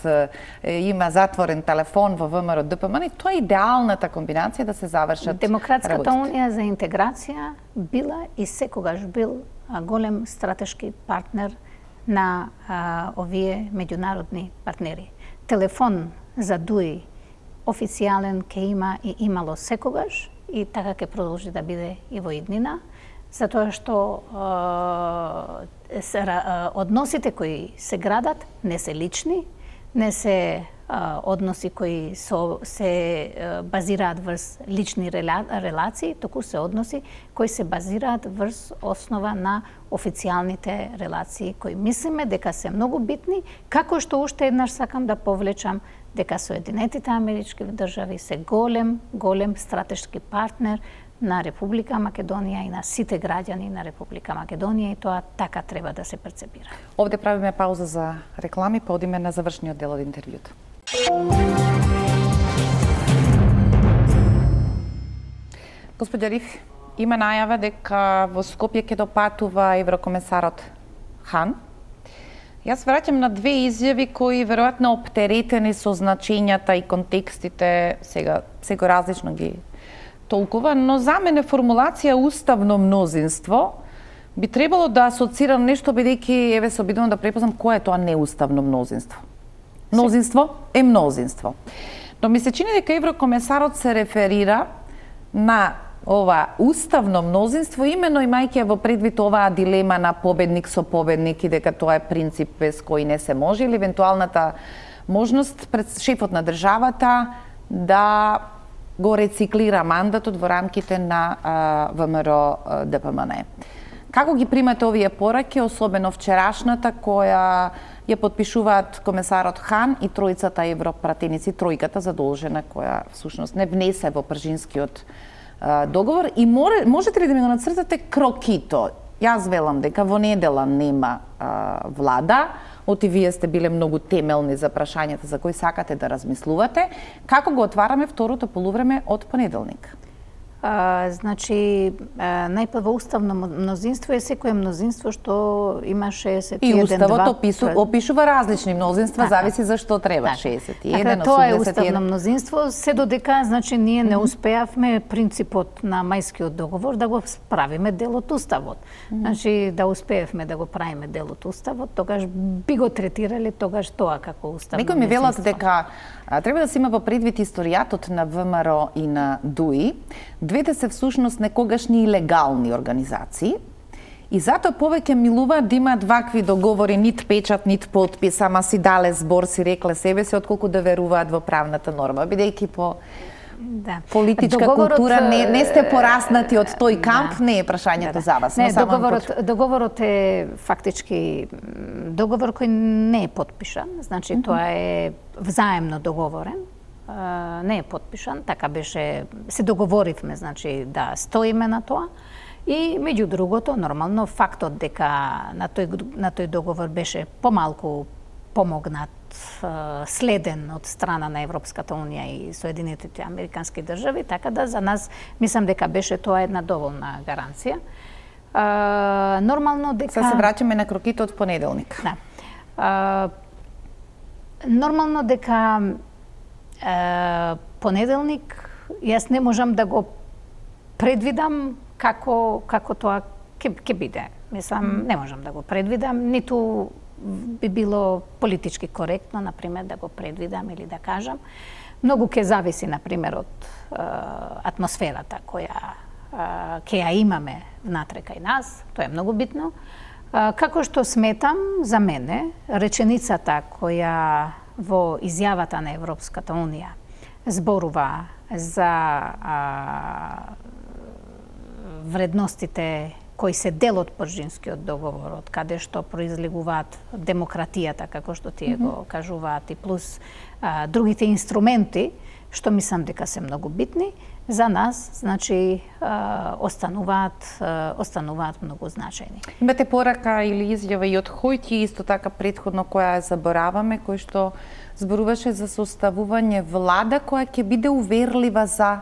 има затворен телефон во ВМРО ДПМН, тоа е идеалната комбинација да се завршат Демократската унија за интеграција била и секогаш бил голем стратешки партнер на овие меѓународни партнери. Телефон за Дуи официјален ке има и имало секогаш и така ќе продолжи да биде и во иднина, затоа што односите кои се градат не се лични, не се односи кои се базираат врз лични релации, току се односи кои се базираат врз основа на официјалните релации кои мислиме дека се многу битни, како што уште еднаш сакам да повлечам дека Соединетите Амерички држави се голем стратешки партнер на Република Македонија и на сите граѓани на Република Македонија и тоа така треба да се перцепира. Овде правиме пауза за реклами, па одиме на завршниот дел од интервјуто. Господја Риф, има најава дека во Скопје ќе допатува еврокомесарот Хан. Јас враќам на две изјави кои веројатно оптеретени со значењата и контекстите, сега различно ги толкува, но за мене формулација уставно мнозинство би требало да асоцира нешто, бидејќи еве се обидувам да препознам кое е тоа неуставно мнозинство. Мнозинство е мнозинство. Но ми се чини дека еврокомесарот се реферира на ова уставно мнозинство, именно имајќи во предвид оваа дилема на победник со победник и дека тоа е принцип без кој не се може, или евентуалната можност пред шефот на државата да го рециклира мандатот во рамките на ВМРО ДПМН. Како ги примате овие пораки, особено вчерашната која ја подпишуваат комесарот Хан и тројцата европратеници, тројката задолжена која всушност не внесе во пржинскиот договор, и можете ли да ми го нацртате крокито? Јас велам дека во недела нема влада, оти вие сте биле многу темелни за прашањата за кои сакате да размислувате. Како го отвараме второто полувреме од понеделник? Значи, најпрво уставно мнозинство е секое мнозинство што има 61 и уставот опишува различни мнозинства, зависи за што треба 61, 81. Тоа е уставно мнозинство, се додека значи ние не успеавме принципот на мајскиот договор да го правиме дел од уставот. Значи да успеевме да го правиме дел од уставот, тогаш би го третирале тогаш тоа како уставно мнозинство. Некои ми велат дека треба да се има во предвид историјатот на ВМРО и на ДУИ. Двете се всушност некогашни илегални организации и затоа повеќе милуваат да имаат вакви договори, нит печат, нит подпис, ама си дале збор, си рекле себе си, отколку да веруваат во правната норма, бидејќи по политичка култура не сте пораснати од тој камп, не е прашањето за вас. Не, договорот е фактички договор кој не е подпишан, значи тоа е взаемно договорен, не е подпишан, така беше, се договоривме, значи да стоиме на тоа. И меѓу другото, нормално фактот дека на тој договор беше помалку помогнат, следен од страна на Европската унија и Соединетите Американски држави, така да за нас мислам дека беше тоа една доволна гаранција. Нормално дека Сега се враќаме на кроките од понеделник. Да. Нормално дека понеделник јас не можам да го предвидам како тоа ќе биде. Мислам, не можам да го предвидам, ниту би било политички коректно, например, да го предвидам или да кажам. Многу ќе зависи, например, од атмосферата која ќе ја имаме внатре кај нас, тоа е многу битно. Како што сметам, за мене, реченицата која во изјавата на Европската Унија зборува за вредностите кои се дел од Пржинскиот договор, од каде што произлегуваат демократијата, како што тие го кажуваат, и плюс другите инструменти, што мислам дека се многу битни, за нас, значи, остануваат многу значајни. Имате порака или изјава и од Хојти, исто така претходно која ја забораваме, кој што зборуваше за составување влада која ќе биде уверлива за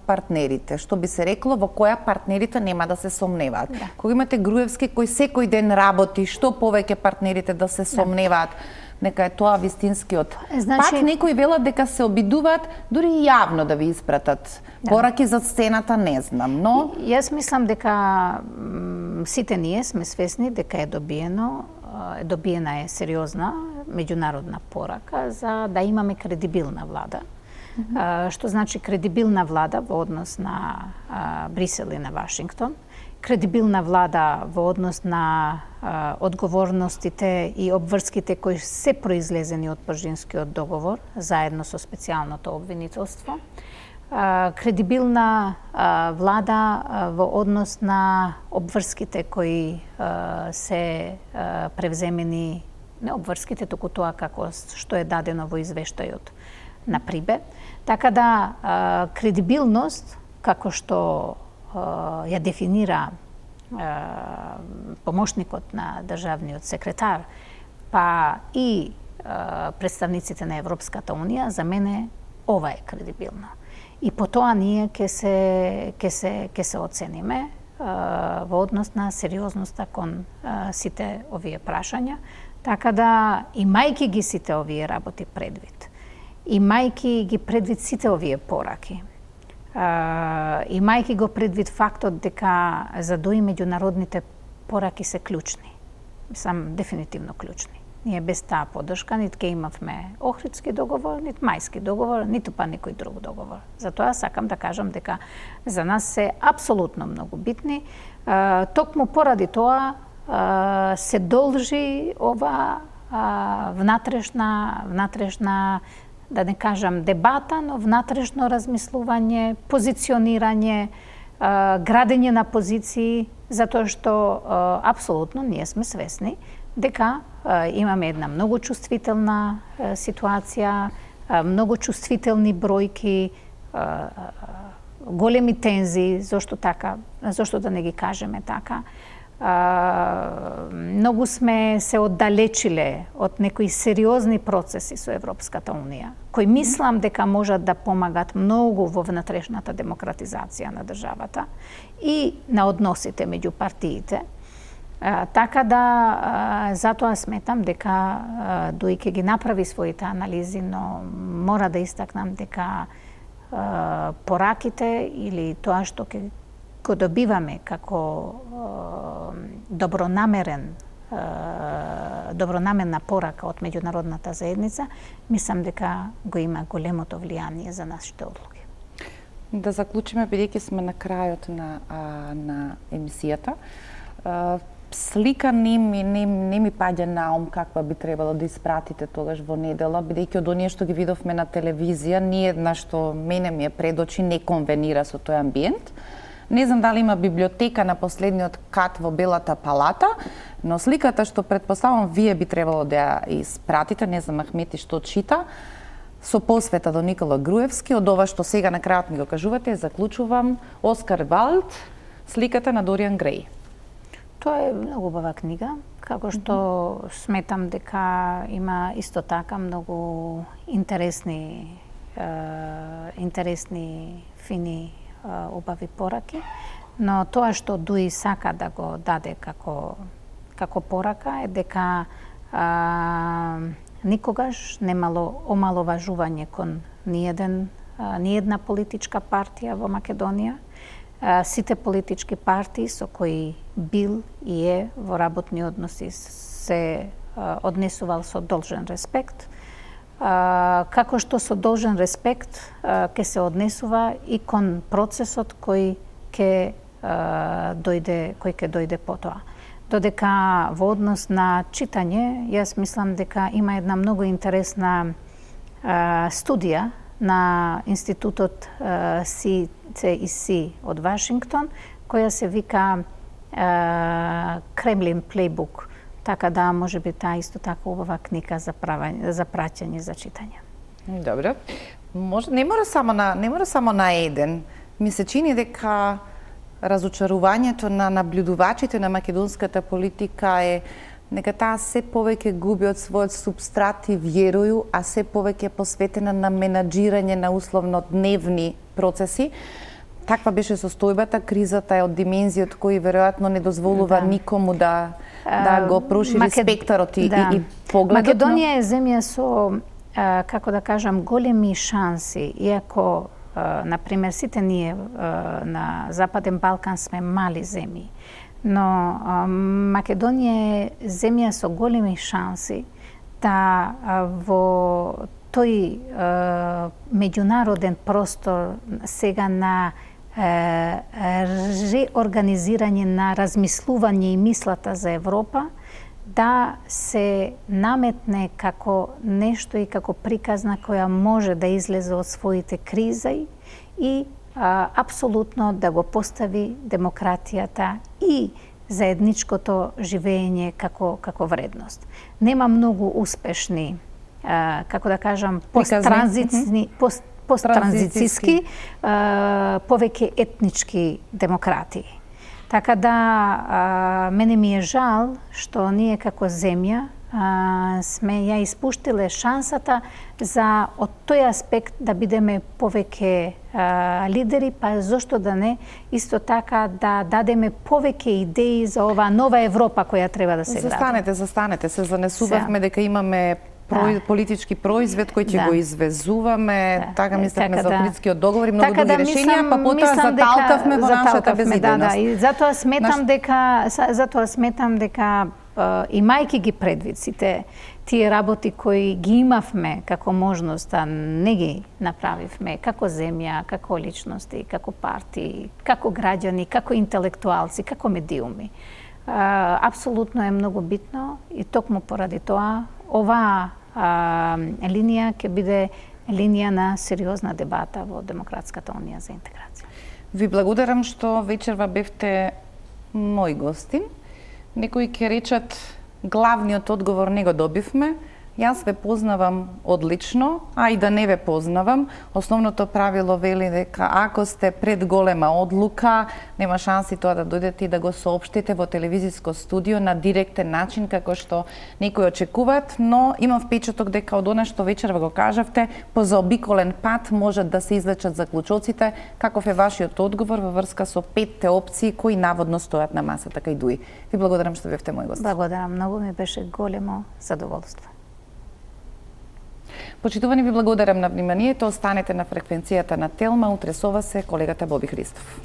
партнерите, што би се рекло во која партнерите нема да се сомневаат. Да. Кога имате Груевски кој секој ден работи, што повеќе партнерите да се сомневаат, нека е тоа вистинскиот. Значи, пак некои велат дека се обидуваат дури и јавно да ви испратат пораки за сцената, не знам, но јас мислам дека сите ние сме свесни дека добиена е сериозна меѓународна порака за да имаме кредибилна влада. Што значи кредибилна влада во однос на Брисел и на Вашингтон, кредибилна влада во однос на одговорностите и обврските кои се произлезени од Пржинскиот договор, заедно со специјалното обвинителство, кредибилна влада во однос на обврските кои се превземени, не обврските, туку тоа како што е дадено во извештајот на Прибе. Така да, кредибилност, како што ја дефинира помошникот на државниот секретар, па и представниците на Европската Унија, за мене ова е кредибилно. И по тоа ние ќе се оцениме во однос на сериозноста кон сите овие прашања, така да имајќи ги сите овие работи предвид, имајќи ги предвид сите овие пораки, имајќи го предвид фактот дека задои меѓународните пораки се клучни, мислам дефинитивно клучни. Ние без таа поддршка нит ке имавме Охридски договор, нит Мајски договор, ниту па некој друг договор. Затоа сакам да кажам дека за нас се апсолутно многу битни. Токму поради тоа се должи ова внатрешна, да не кажам дебата, но внатрешно размислување, позиционирање, градење на позиции, затоа што апсолутно ние сме свесни дека имаме една многу чувствителна ситуација, многу чувствителни бројки, големи тензии, зошто да не ги кажеме така. Многу сме се оддалечиле од некои сериозни процеси со Европската Унија, кои мислам дека можат да помагат многу во внатрешната демократизација на државата и на односите меѓу партиите. Така да, затоа сметам дека ДОИ ќе ги направи своите анализи, но мора да истакнам дека пораките или тоа што ќе го добиваме како добронамерна порака од меѓународната заедница, мислам дека го има големото влијание за нашите одлуки. Да заклучиме, бидејќи сме на крајот на емисијата. Слика не ми паѓа на ум каква би требало да испратите тогаш во недела, бидејќи од оние што ги видовме на телевизија, ни една што мене ми е пред очи не конвенира со тој амбиент. Не знам дали има библиотека на последниот кат во Белата палата, но сликата што претпоставам вие би требало да ја испратите, не знам Ахмети што чита, со посвета до Никола Груевски, од ова што сега на крајот ми го кажувате, заклучувам Оскар Валд, сликата на Дориан Греј. Тоа е многу убава книга, како што сметам дека има исто така многу интересни, фини, убави пораки, но тоа што ДОИ сака да го даде како порака е дека никогаш немало омаловажување кон ниедна политичка партија во Македонија. Сите политички партии со кои бил и е во работни односи се однесувал со должен респект, како што со должен респект ќе се однесува и кон процесот кој ќе дојде потоа. Додека во однос на читање, јас мислам дека има една многу интересна студија на Институтот CCEC од Вашингтон, која се вика Кремлин плейбук, така да може би таа исто така убава книга за праќање, за читање. Добро. Не мора само на еден. Ми се чини дека разочарувањето на наблюдувачите на македонската политика е дека таа се повеќе губи од својот субстрат и вјерую, а се повеќе посветена на менаџирање на условно дневни процеси. Таква беше состојбата, кризата е од димензијот кој веројатно не дозволува никому да го прошири спектарот и погледот. Македонија е земја со, како да кажам, големи шанси, иако например, сите ние на Западен Балкан сме мали земји, но Македонија е земја со големи шанси да во тој меѓународен простор сега на реорганизирање на размислување и мислата за Европа, да се наметне како нешто и како приказна која може да излезе од своите кризи и апсолутно да го постави демократијата и заедничкото живење како вредност. Нема многу успешни, како да кажам, посттранзицијски, повеќе етнички демократии. Така да, мене ми е жал што ние како земја сме ја испуштиле шансата за од тој аспект да бидеме повеќе лидери, па зошто да не исто така да дадеме повеќе идеи за оваа нова Европа која треба да се гради. Застанете, се занесувавме дека имаме политички производ кој ќе го извезуваме, така мислевме за Охридскиот договор и многу други решенија, па потоа заталкавме во нашата безидејност. И затоа сметам дека имајќи ги предвид сите тие работи кои ги имавме како можност, а не ги направивме како земја, како личности, како партии, како граѓани, како интелектуалци, како медиуми. Апсолутно е многу битно и токму поради тоа оваа линија ќе биде линија на сериозна дебата во Демократската унија за интеграција. Ви благодарам што вечерва бевте мој гостин. Некои ќе речат главниот одговор не го добивме. Јас ве познавам одлично, а и да не ве познавам. Основното правило вели дека ако сте пред голема одлука, нема шанси тоа да дојдете и да го соопштите во телевизиско студио на директен начин, како што некои очекуваат, но имам впечаток дека од она што вечерва го кажавте, по заобиколен пат можат да се извлечат заклучоците, каков е вашиот одговор во врска со 5 опции кои наводно стојат на масата кај ДУИ. Ви благодарам што бевте мој гост. Благодарам, многу ми беше големо задоволство. Почитувани, ви благодарам на вниманието. Останете на фреквенцијата на Телма. Утре со вас е колегата Боби Христов.